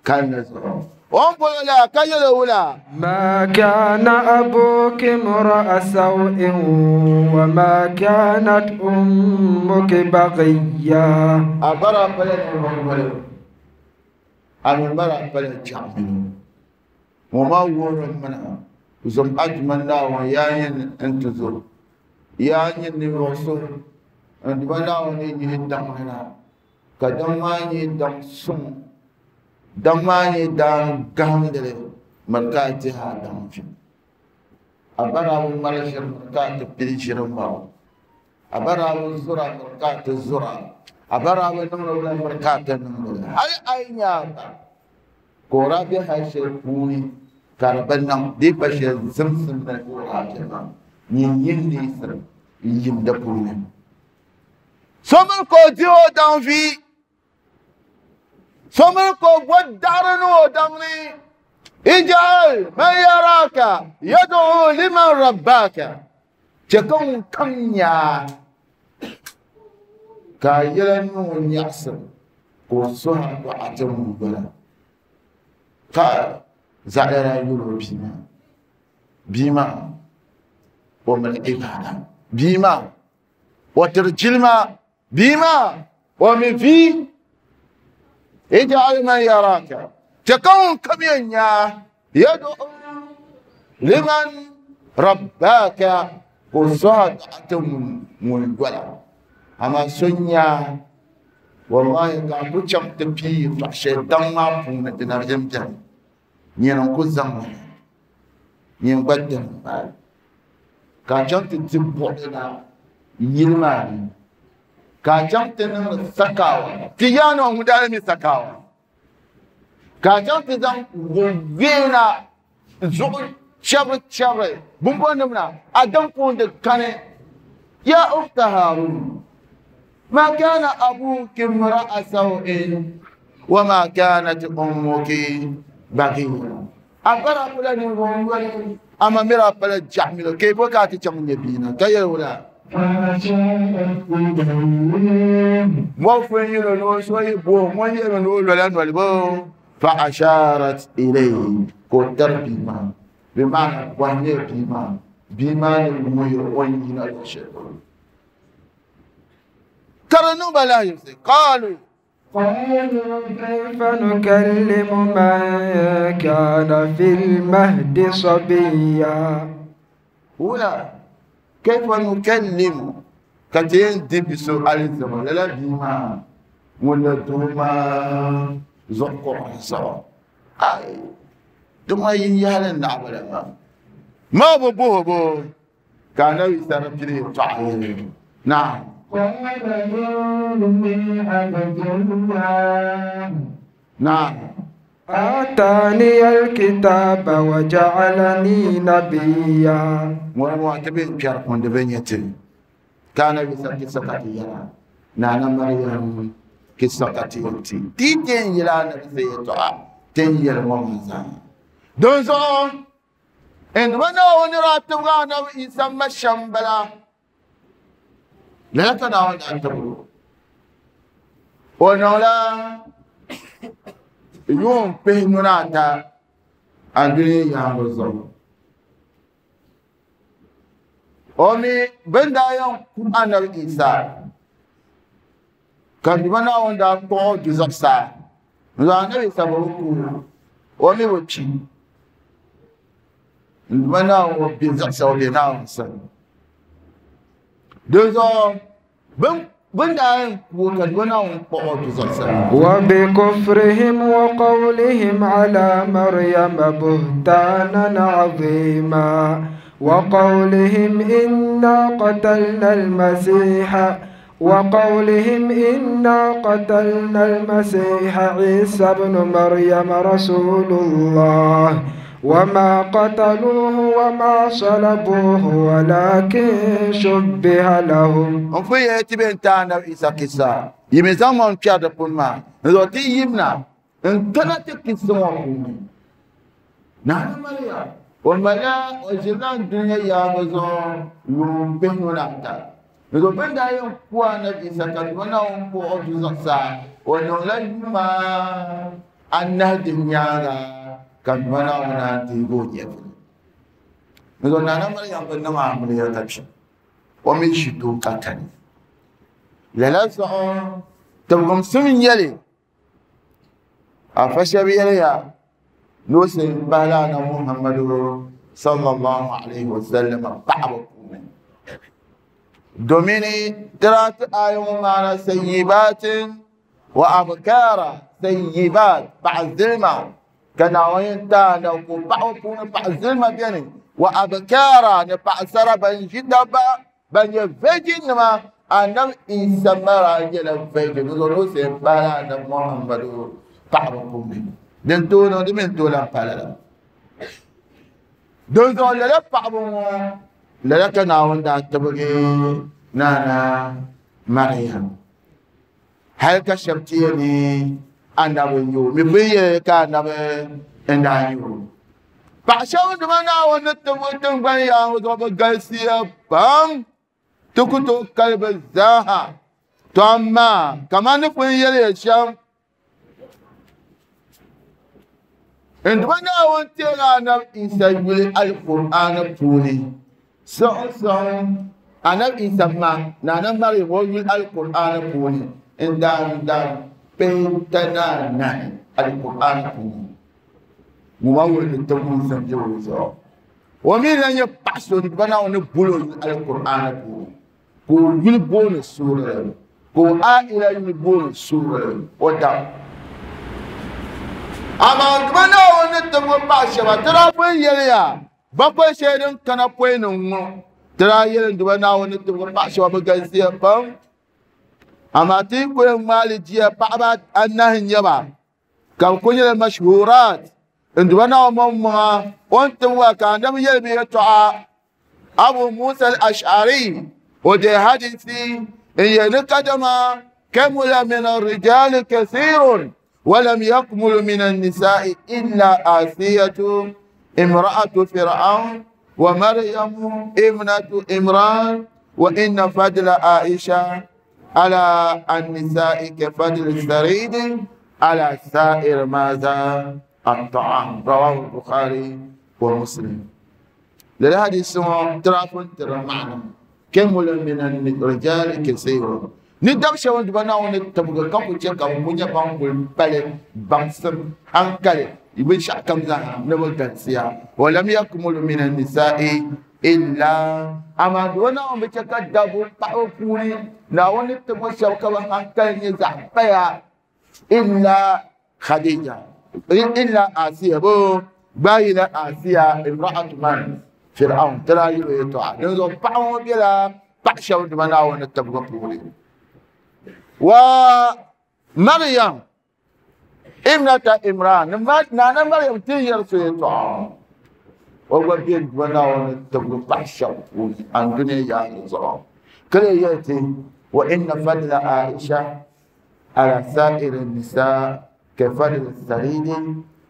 kalinli zuɣu o ni boli la ka yɛli wula
ما كان أبوك امرأ سوء وما كانت أمك بغيا
a bara pala ninvuɣu yoli a mi bara pala jaɣamilo ŋɔ maa wuhiri mina zom aduma Naawuni yaa nyini n ti zo yaa nyini ninvuɣu so n duma Naawuni ni yihi daŋ ni na ka daŋ maa nyɛ daŋ suŋ daŋ maa nyɛ daŋ gahandili miri ka a dihi a daŋ vi a bara bi ŋmari ʒiri miri ka a ti pili ʒiri ŋmabu a bara bi zura miri ka a ti zura a bara bi niŋdi wula miri ka a ti niŋdi hali a yi nyɛ a ba ka o daa be hali shɛli puuni ka di bi niŋ di pa shɛli zimsim ni ka o daa be maa nyin yin neesim n yim di puuni so miri ka o dihi o daŋ vi so miri ka o bo daɣari ni o daŋ ni ij'al man yaraka yad'u liman rabbaka chɛ ka ŋun kam nyaa ka a yɛla niŋ o nyaɣisim ka o suhi a dɔɣa ti ŋun dola ka zaɣila daa yuli o bia maa bia maa o mali ibada bia maa o tiri jilima bia maa o mi vi ij'al man yaraka chɛ ka ŋun kam yɛn nyaa yad'u liman rabbaka ka o suhi a dɔɣa ti ŋun dola amaa so nyaa wallahi ka a ku chaŋ ti pii yɛltɔɣa shɛli daŋ maa puuni di na yɛn bɛni nyini n ku zaŋ li nyin gba dini m-bala ka a chaŋ ti di buɣili na yili maa ni ka a chaŋ ti niŋdi sakawa ti yaani ŋun daa mi sakawa ka a chaŋ ti zaŋ weena zuɣu chɛbiri chɛbiri bumbɔnim na a daŋ puuni di kani ya ukhta Harun ma kana abuki imra'a saw'in wa ma kanat ummuki baghiya a bara pala ninvuɣu yoli ama miri a pala jaɣamilo ka i bo ka a ti chaŋ nyɛ bia na ka yɛli wula mɔfin yino ni o so yi bo ŋun yɛlimi ni o lola noli bo fa asharat ilayhi ka o tari bia maa bi maana bɔhi nyɛ bia maa bia maa ni wuhiri o ni yina luɣu shɛli polo ka di niŋ ba lahaʒibisi qaalu
قالوا كيف نكلم من كان في المهد صبيا
wula kayfa nukallimu ka ti yɛn di bi so alizama lala bia maa ŋun la doo maa zuɣu kuɣu zuɣu ai di maa yin yahali naɣabila maa maa bi boho bo ka anabi Isa di pili yɛltɔɣa yɛli naam
قال إني عبد الله
naam
آتاني الكتاب وجعلني نبيا
ŋɔni ŋɔ ti bɛ kpɛri kundi bɛ nyɛ ti Ka anabi Isa kisa ka ti yɛra Nana Maryam kisa ka ti yɛti ti ti n yɛli anabi Isa yɛltɔɣa ti n yɛli ŋɔ maa zaa dinzuɣu n duba Naawuni ni daa tibigi anabi Isa ma shɛm bala lala ka Naawuni daa tibigi o o niŋla yuun pihinu ni ata andunia yaangi zuɣu o mi bin daa yɛn ku anabi Isa ka duba Naawuni daa kpuɣi o du zuɣusaa n zaŋ anabi Isa bi bi ku o mi bi kpi n duba Naawuni o be zuɣusaa o be Naawuni sani dinzuɣu bin bin daa yɛn ku o ka duba Naawuni kpuɣi o du zuɣusaa.
وبكفرهم وقولهم على مريم بهتانا عظيما وقولهم إنا قتلنا المسيح وقولهم إنا قتلنا المسيح عيسى ابن مريم رسول الله وما قتلوه وما صلبوه ولكن شبه لهم.
N pun yɛli ti bɛ n ti anabi Isa kisa yimi zaŋ ŋɔ n kpɛri di puni maa n zaŋ ti yimna n kana ti kisa ŋɔ puuni Nana Maryam o malila o ʒirila n dunia yaangi zuɣu yuun pihinu ni ata n zaŋ bin daa yɛn ku anabi Isa ka duba Naawuni kpuɣi o du zuɣusaa o niŋla yuma anahi din nyaanga ka duba Naawuni naan deegi o nyɛvuli n zaŋ Nana Maryam bi niŋ amiliya ka kpi o mi ʒi doo ka kani lala zuɣu tibigimsim n nyɛli afa shɛba yɛliya ni o sin bahila anabi Muhammadu sallallahu alaihi wasallam paɣaba puuni domini tira ti aya ŋɔ maana sayyibatin wa abkara sayyibat paɣa zilima ka Naawuni yɛn ti anabi ka o paɣaba puuni paɣa zilima beni wa abkara ni paɣasara ban ʒi dabba ban nyɛ virgin nima anabi Isa mara nyɛla virgin di zuɣu ni o sin bahila anabi Muhammadu paɣaba puuni din tooi niŋ di mi n tooi lan pa lala dinzuɣu lala paɣaba ŋɔ lala ka Naawuni daa tibigi Nana Maryam hali ka shɛba ti yɛli ni anabi n nyɛ o mi pun yɛli ka anabi n daa nyɛ o paɣa shɛba duma Naawuni ni tibigi tingbani yaangi zuɣu bi galisiya pam ti ku tooi kali bi zaaha to amaa kamani ni pun yɛliya shɛm n duba Naawuni teela anabi Isa yuli Alkur'aani puuni siɣim siɣim anabi Isa ma Nana Maryam o yuli Alkur'aani puuni n daan daan pihita ni anahi Alkur'aani puuni ŋɔ maa wuhi ni tibigimsim be o zuɣu o mi lan nyɛ paɣa so duba Naawuni ni boli o yuli Alkur'aani puuni ka o yuli booni suurili ka o aila yuli booni suurili o dam amaa duba Naawuni ni tibigi paɣa shɛba ti daa pun yɛliya bakwai shɛli din kana pɔi ni ŋɔ ti daa yɛli duba Naawuni ni tibigi paɣa shɛba bi galisiya pam amaa ti yi ku yɛn ŋmaali jia paɣaba anahi n nyɛ ba ka bi ku nyɛla mashhurat n duba Naawuni maŋmaŋa o ni tibigi ka anabi yɛli bi yɛltɔɣa Abu Musa al-Ash'ari o deei hadisi n yɛli ni kadama kamula min arrijali kathirun ولم يكمل من النساء إلا آسية امرأة فرعون ومريم ابنة إمران وإن فضل عائشة على النساء كفضل الثريد على سائر ماذا الطعام. رواه البخاري ومسلم. للحديث ترافن ترى معنى كمل من الرجال كثير ni dab shɛba duba Naawuni ni tibigi ka ku chɛ ka bɛ ku nyɛ ban kuli pali baŋsim hankali binshɛɣu kam zaa ni bi galisiya walam yakmulu min annisa'i illa amaa duba Naawuni bi chɛ ka dabba paɣaba puuni Naawuni ni tibigi shɛba ka bi hankali nyɛ zaɣ paya illa Khadija illa Asiya bo gbaayila Asiya imra'atu man Fir'aun tira yuli yɛltɔɣa dinzuɣu paɣa ŋɔ bela paɣa shɛba duba Naawuni ni tibigi puuni wa Maryam ibnata Imran Nana Maryam ti yɛri so yɛltɔɣa o gba be duba Naawuni tibigi paɣa shɛba puuni andunia yaangi zuɣu كليتي وإن فضل عائشة على سائر النساء كفضل الثريد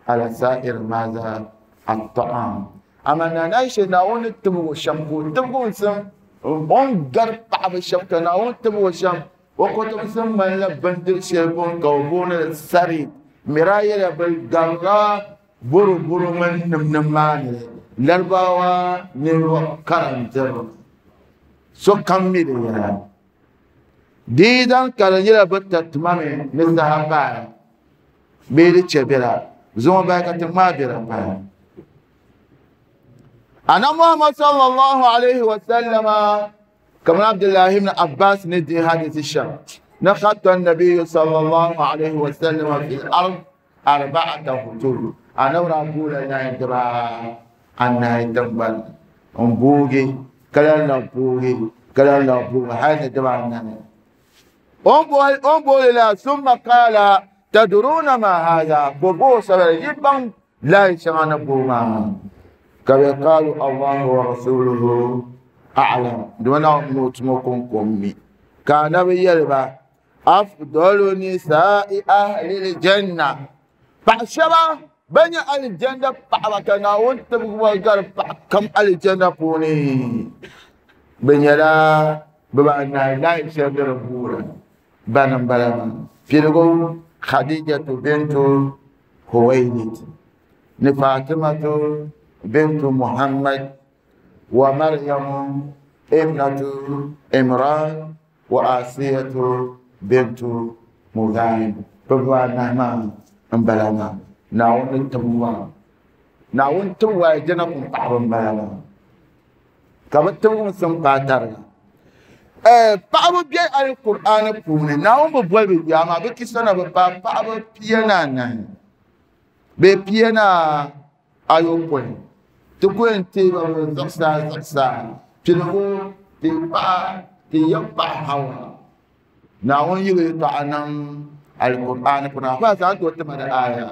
على سائر ماذا الطعام أما نعيش ناون تبغو شمكو تبغو سم أون غر بعض الشمكة ناون تبغو شم وكتب سم من لبندر شربون كوبون الثريد مرايا بالغرا برو برو من نمنمان لرباوا نيرو كرم سو كم ميري ديدان كالنجلا بتتمامي نزها باي بيري تشبيرا زوما باي كتما بيرا باي أنا محمد صلى الله عليه وسلم كما عبد الله بن عباس ندي هذه الشر نخط النبي صلى الله عليه وسلم في الأرض أربعة خطوط أنا أقول أن يدرى أن يدبر أمبوغي كلا نبوغي كلا نبوغي هذا دبر أمبول لا ثم قال تدرون ما هذا بوبو سبب يبان لا يشغل بوما كما قالوا الله ورسوله أعلم دون موت مكون كمي كان بيلبا أفضل نساء أهل الجنة بعشرة بني الجنة بعركنا وانت بقول كم الجنة بوني بني لا بمعنى لا يشغل بورا بنم بلما فيلقوا خديجة بنت خويلد فاطمة بنت محمد ومريم ابنة عمران وآسية بنت مزاحم بمعنى ما بلما ناون تبوا ناون تبوا جنب بعض بلما كما تبوا سمباتر paɣaba be alqur'an puuni naawuni bi boli bi yuya maa bi kisana bi paai paɣaba pia ni anahi bee pia ni ayopɔin ti ku yɛn teei ba bi zuɣusaa zuɣusaa piligu ti paɣa ti yɛ paɣa Hawa naawuni yi bi yɛltɔɣa niŋ alqur'an puuni afa zaŋ tooi tima di aaya.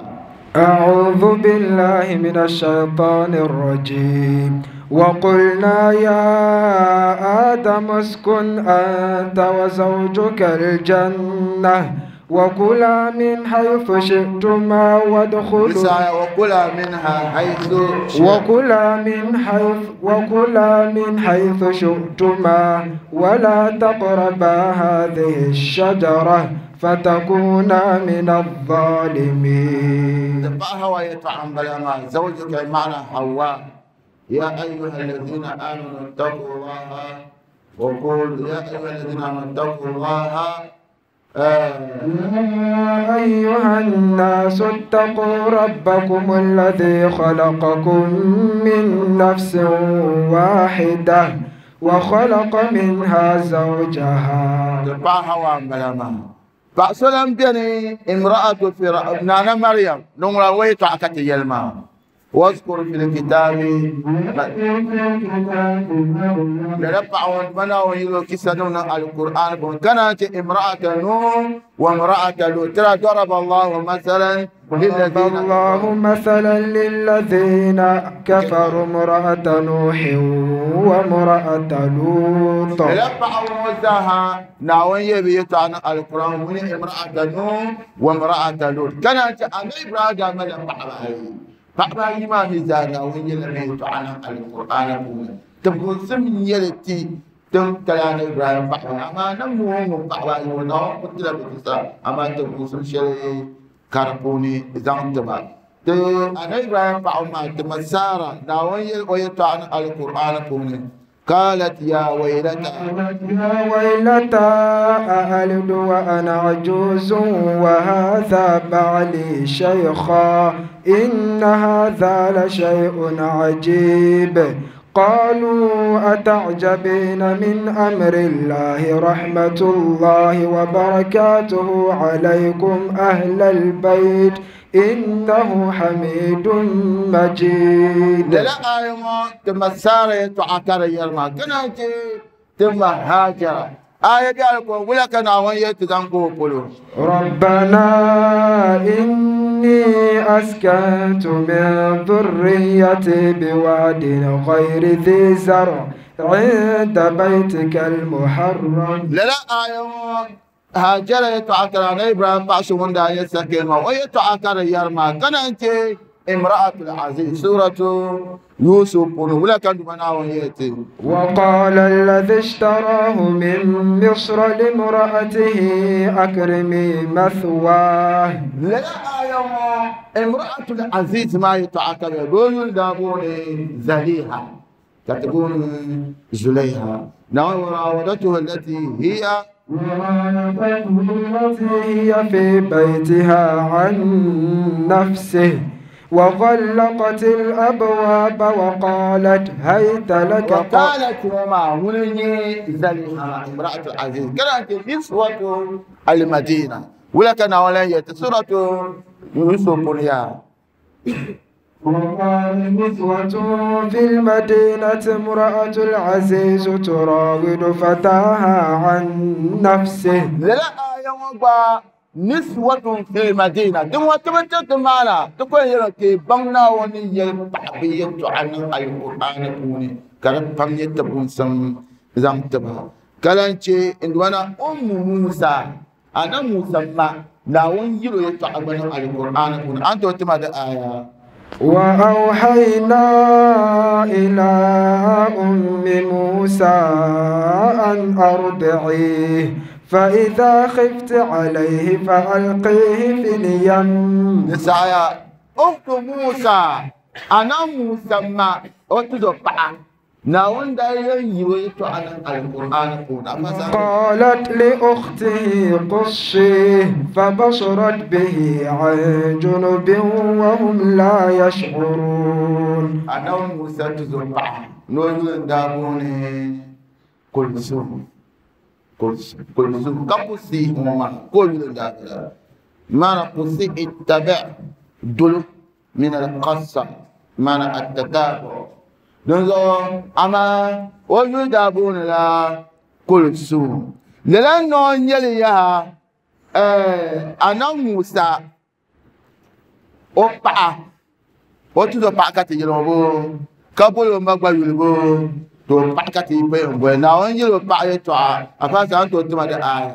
أعوذ بالله من الشيطان الرجيم وقلنا يا آدم اسكن أنت وزوجك الجنة وكلا من حيث شئتما وادخلوا
وكلا منها حيث
وكلا من حيث وكلا من حيث شئتما ولا تقربا هذه الشجرة فتكونا من الظالمين.
هو يطعم بلا زوجك معنى حواء. يا أيها الذين آمنوا اتقوا الله وقولوا يا أيها الذين آمنوا اتقوا الله.
يا أيها الناس اتقوا ربكم الذي خلقكم من نفس واحدة وخلق منها زوجها.
فأسلم بني امرأة فرعون نانا مريم نمرة ويتعكت يلما واذكر في الكتاب لرفعون بنا ويلوكسنون القرآن كانت امرأة نوح وامرأة لوط. ضرب الله مثلا
ضرب الله مثلا للذين كفروا امرأة نوح وامرأة لوط.
لرفعون وزاها ناوي يبيتان القرآن من امرأة نوح وامرأة لوط كانت أنا إبراهيم من فأبا ما في زانا وين يلمي تعالى القرآن تبغون سم يلتي تم كلام إبراهيم فأبا أما نمو فأبا يونا قتل بكسا أما تبغون سم شيء كاربوني زان تبا ت أنا إبراهيم فأبا ما تمسارا ناوي يل تعالى القرآن كوني قالت يا ويلتى
يا ويلتى أألد وأنا عجوز وهذا بعلي شيخا إن هذا لشيء عجيب. قالوا أتعجبين من أمر الله رحمة الله وبركاته عليكم أهل البيت إنه حميد مجيد.
لا آيما تمسارة تعتر يرما كنانتي تم هاجر آية قالكم ولا كان أوان يتزنقوا قلوا
ربنا إن إني أسكنت من ذريتي بواد غير ذي زرع عند بيتك المحرم.
لا لا آية هاجر يتعكر على إبراهيم بعشو من داية سكينة ويتعكر يرمى كان أنت امرأة العزيز سورة يوسف ولا كان بناويتي.
وقال الذي اشتراه من مصر لامرأته أكرمي مثواه.
لا يا امرأة العزيز ما يتعاقب يقول دابوني زليها تكون زليها نعم وراودته التي هي
التي هي في بيتها عن نفسه وغلقت الأبواب وقالت هيت لك.
وقالت وما هنني زليها امرأة العزيز كانت نسوة المدينة ولكن أولا سورة يوسف يا.
وقال نسوة في المدينة امرأة العزيز تراود فتاها عن نفسه.
لا يا نسوة في المدينة دم وتبتت معنا تقول يا بنا وني تعبية عن القرآن كوني كرب فم يتبون سم زم تبا كلانشي إن وانا أم موسى أنا موسى ما ناون يلو يتعبون القرآن كوني أنت وتما آية.
وأوحينا إلى أم موسى أن أرضعيه فإذا خفت عليه فألقيه في اليم.
نسايا أخت موسى أنا موسى ما أتذكر ناون داير يويتو على القرآن
قالت لأخته قصيه فبصرت به عن جنب وهم لا يشعرون.
أنا موسى تذكر نقول دابوني كلثوم كلثوم كقصي هما كل دابلا ما نقصي اتبع دل من القصة ما التتابع دونزو أما وجود دابون لا كلثوم لأنه يلي يا أنا موسى أوبا أوتو باكاتي يلوبو كابولو مغبا يلوبو to pakati pe ngwe na onye lo pa yeto a afa sa to tuma da aya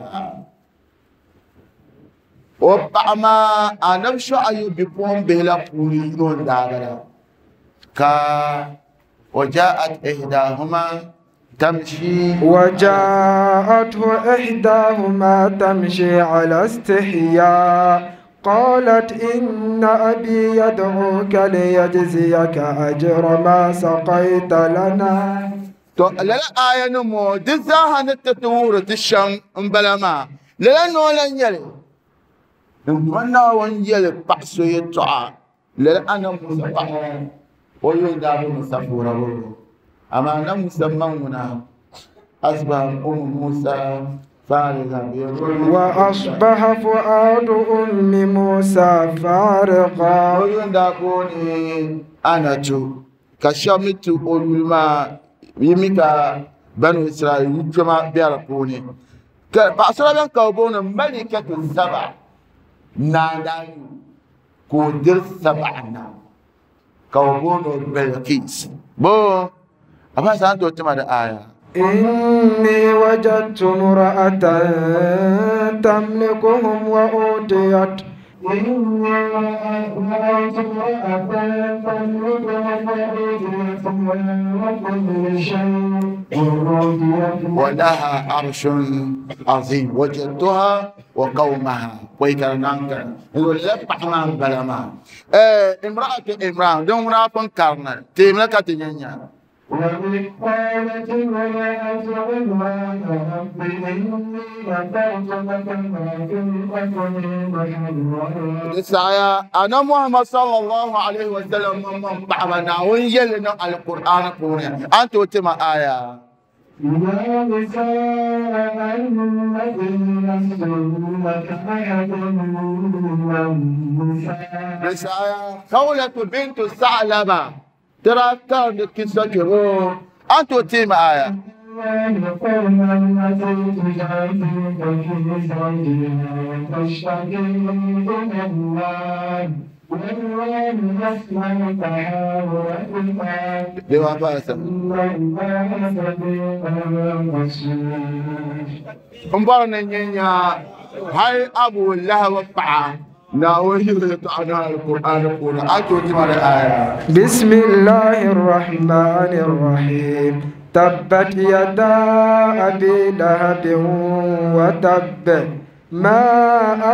o pa ma anab sho ayu bi pon be la puri no da da ka وجاءت إحداهما تمشي
وجاءته إحداهما تمشي على استحياء قالت إن أبي يدعوك ليجزيك أجر ما سقيت لنا.
لا آية نمو دزاها نتطور تشم بلما لا نولا يلي نمنا ونيلي بحثو يتعا لا أنا مصطفى ويدعو مصطفى أما أنا مسمونا أصبح أم موسى فارغا
وأصبح فؤاد أم موسى فارغا
ويدعوني أنا تو كشمت أولما يميكا بنو إسرائيل يجمع بيرقوني بأسرع بين كوبون ملكة السبع نادان كودر سبعنا كوبون بلقيس بو أما سأنتو تما الآية
إني وجدت امرأة تملكهم وأوتيت إني وجدت امرأة تملكهم وأوتيت من كل شيء
ولها عرش عظيم وجدتها وقومها ويكرنانك يقول لبحنا بلما امرأة امرأة دون امرأة كارنا تملك تنيا
وإذ قالت امرأة عمران رب إني نذرت لك ما في بطني محررا.
أنا محمد صلى الله عليه وسلم من بعدنا ويلنا القرآن كونه أنت وتما آية.
يا نساء النبي لستن كأحد من النساء.
خولة بنت ثعلبة ترى كان قصة أنت وتما آية.
الله قولا التي تجادلك في زوجها تشتكي إلى الله والله يسمع تحاوركما
Dewa faasa.
إن الله سميع بصير.
N bɔri ni nyɛ nya hali Abu Lahab paɣa Naawuni yuli yɛltɔɣa ni Alkur'aan puuni a tooi ti ma di aya.
بسم الله الرحمن الرحيم تبت يدا أبي لهب وتب ما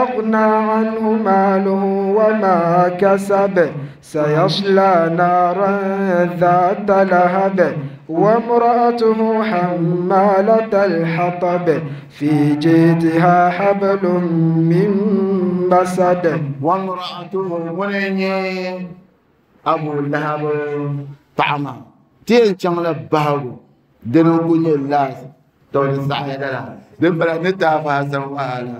أغنى عنه ماله وما كسب سيصلى نارا ذات لهب وامرأته حمالة الحطب في جيدها حبل من مسد.
وامرأته ŋuni n-nyɛ Abu Lahab paɣa maa ti yɛn chaŋla bahigu dini n-ku nyɛ laas to di saɣaya lala din bala ni ti afa Hasan wahala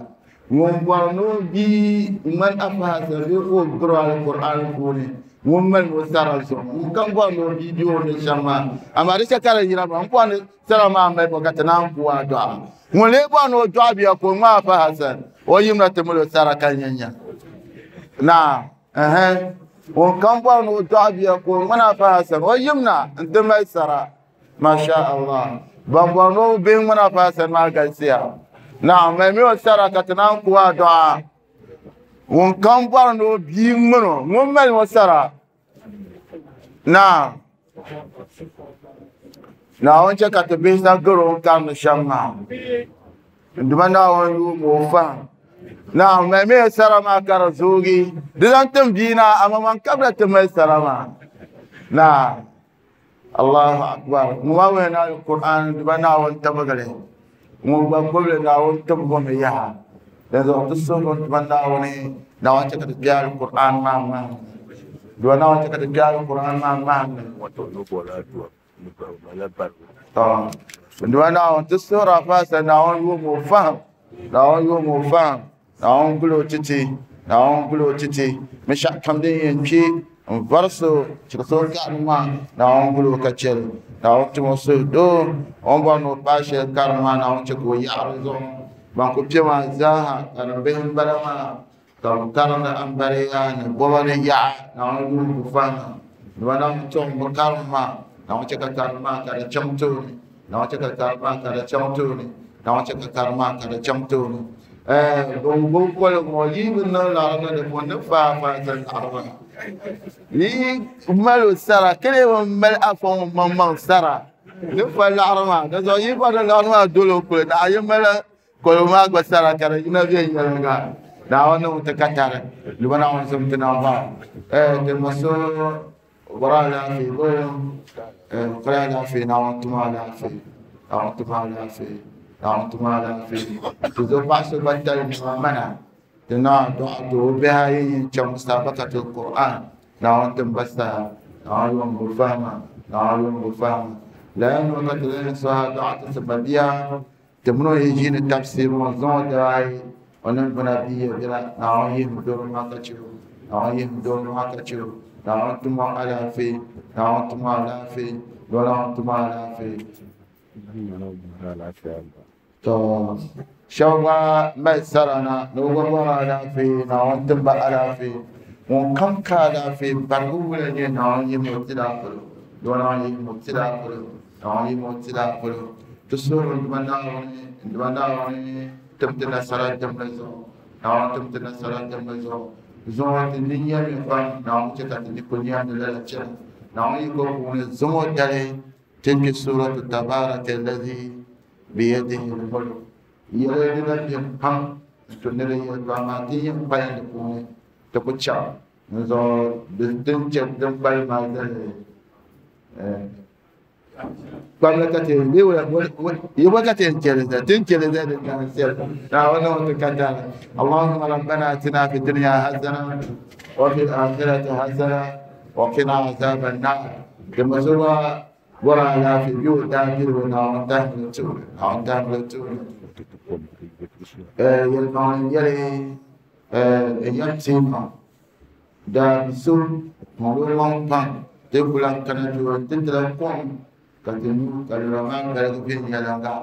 ŋun bɔri ni o bia ŋmani afa Hasan bee ka o biri Alkur'aan puuni ŋun mali o sara zuɣu ŋun kam bɔri ni o bia be o ni shɛm maa amaa di chɛ ka di yina maa n bɔri ni sara maa mali bɔ ka ti naan ku a dɔɣa ŋun lee bɔri ni o dɔɣi bia ka o ŋmaa afa Hasan o yimna ti mali o sara ka nyɛ nya naa ɛhɛn ŋun kam bɔri ni o dɔɣi bia ka o ŋmani afa Hasan o yimna n-ti mali sara masha Allah ban bɔri ni o bihi ŋmani afa Hasan maa galisiya naa mali mi o sara ka ti naan ku a dɔɣa ŋun kam bɔri ni o bia ŋmani o ŋun mali o sara naa Naawuni chɛ ka ti bihi sa gari o ni karindi shɛm maa duma Naawuni yuumi o fahim naa mali mi o sara maa ka di zoogi di zaŋ tim bia na amaa man kabila ti mali sara maa naa Allahu akbar ŋun maa wuhi na Alkur'aan duma Naawuni tibigili ŋun gba gbubili Naawuni tibigi mi yaha din zuɣu ti suhuri duma Naawuni Naawuni chɛ ka ti kpe Alkur'aan maa ŋmahim duma Naawuni chɛ ka ti kpe Alkur'aan maa ŋmahim duma Naawuni ti suhuri a faasa Naawuni yuumi o fahim Naawuni yuumi o fahim Naawuni guli o titi Naawuni guli o titi binshɛɣu kam din yɛn kpe n varisi chirisi o karim maa Naawuni guli o ka chɛli Naawuni tim o suhudoo o ni bɔri ni o paai shɛli karim maa Naawuni chɛ ka o yaɣiri zuɣu ban ku kpe maa zaaha karim bihi n-bala maa ka bɛ karindi ambariya ni bɔba ni yaɣa Naawuni yuumi bɛ fahima duma Naawuni tɔŋ bɛ karim maa Naawuni chɛ ka karim maa ka di chaŋ tooni Naawuni chɛ ka karim maa ka di chaŋ tooni Naawuni chɛ ka karim maa ka di chaŋ tooni ban gbubi koligu ŋɔ yi bi niŋ laɣiri ni di puuni ni faai faai ti laɣiri maa yi mali o sara kili bi mali afa ŋun maŋmaŋ sara ni fa laɣiri maa di zuɣu yi bɔri laɣiri maa doli o kuli naɣ yi mali koligu maa gba sara ka di yina viɛnyɛliŋga Naawuni niŋ ti katari duma Naawuni zim ti naŋ ti ma so bɔri alaafee bɔ kuli alaafee Naawuni tuma alaafee Naawuni tuma alaafee Naawuni tuma alaafee ti zo paɣa so gba tali nima mana ti naa dɔɣi ti o bihi ayi yɛn chaŋ musabakatul Qur'an Naawuni tim ba saha Naawuni yuum bi fahima Naawuni yuum bi fahima lala nima ka ti lahi sɔha dɔɣi ti ti ma bia ti mini o yi ʒiini tafsiri ŋɔ zaŋ o daba ayi o niŋgbuna bia bela Naawuni yihim doro maa ka chɛ o Naawuni yihim doro maa ka chɛ o Naawuni tim o alaafee Naawuni tim o alaafee Naawuni tim o alaafee to shɛba gba mali sara na ni bɛ gba bɔri alaafee Naawuni tim ba alaafee ŋun kam ka alaafee barigu wula nyɛ Naawuni yihim o tila polo Naawuni yihim o tila polo Naawuni yihim o tila polo ti suhuri duma Naawuni duma Naawuni tim ti nasara dimli zuɣu Naawuni tim ti nasara dimli zuɣu zuŋɔ ti ni nyɛmi pam Naawuni chɛ ka ti ni kuli nyɛmdi lala chɛna Naawuni yiko puuni zuŋɔ dali ti kpe suratu tabaraka allazi biyadihi l-mulk yɛli dina beni pam n-tu ni di yɛltɔɣa maa ti yɛn kpalim di puuni ti ku chaŋ n zuɣu din chɛ din kpalim maa zali kpamli ka ti yi bɔ ka ti yɛn chɛli zali ti ni chɛli zali din gana shɛli Naawuni niŋ ti katari Allahumma rabbana atina fi dunya hasana wa fil akhirati hasana wa qina azaban nar di ma so gba bɔri alaafee bɛ o daa birigu Naawuni tahimli tuuni Naawuni tahimli tuuni yɛlimaŋli nyɛli yɛm teema daa bi so ŋun o maŋ pam ti ku lahi kana ti o ti tila kom ka Ka ti nyu ka lura maa galigi viɛnyɛliŋga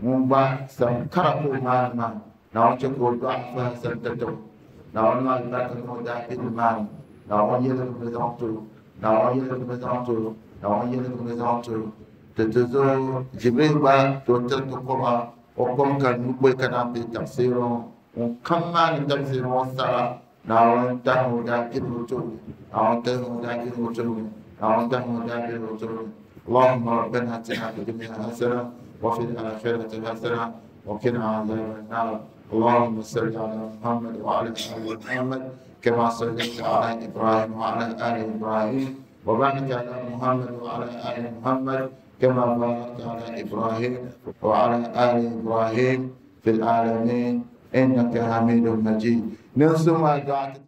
ŋun gba sam kara ka o maani maa Naawuni chɛ ka o dɔɣi fahi sam tatabo Naawuni maa alibarika niŋ o daabilim maa ni Naawuni yɛligimi zaŋ ti o Naawuni yɛligimi zaŋ ti o Naawuni yɛligimi zaŋ ti o ti ti zo Jibril gba ti o tiri ti koma o kom ka nyu kpee ka naan be tafsiri ŋɔ ŋun kam maani tafsiri ŋɔ sara Naawuni tahi o daabilim o tooni Naawuni tahi o daabilim o tooni Naawuni tahi o daabilim o tooni اللهم ربنا اتنا في الدنيا حسنه وفي الاخره حسنه وقنا عذاب النار اللهم صل على محمد وعلى ال محمد كما صليت على ابراهيم وعلى ال ابراهيم وبارك على محمد وعلى ال محمد كما باركت على ابراهيم وعلى ال ابراهيم في العالمين انك حميد مجيد. ننسوا ما دعت.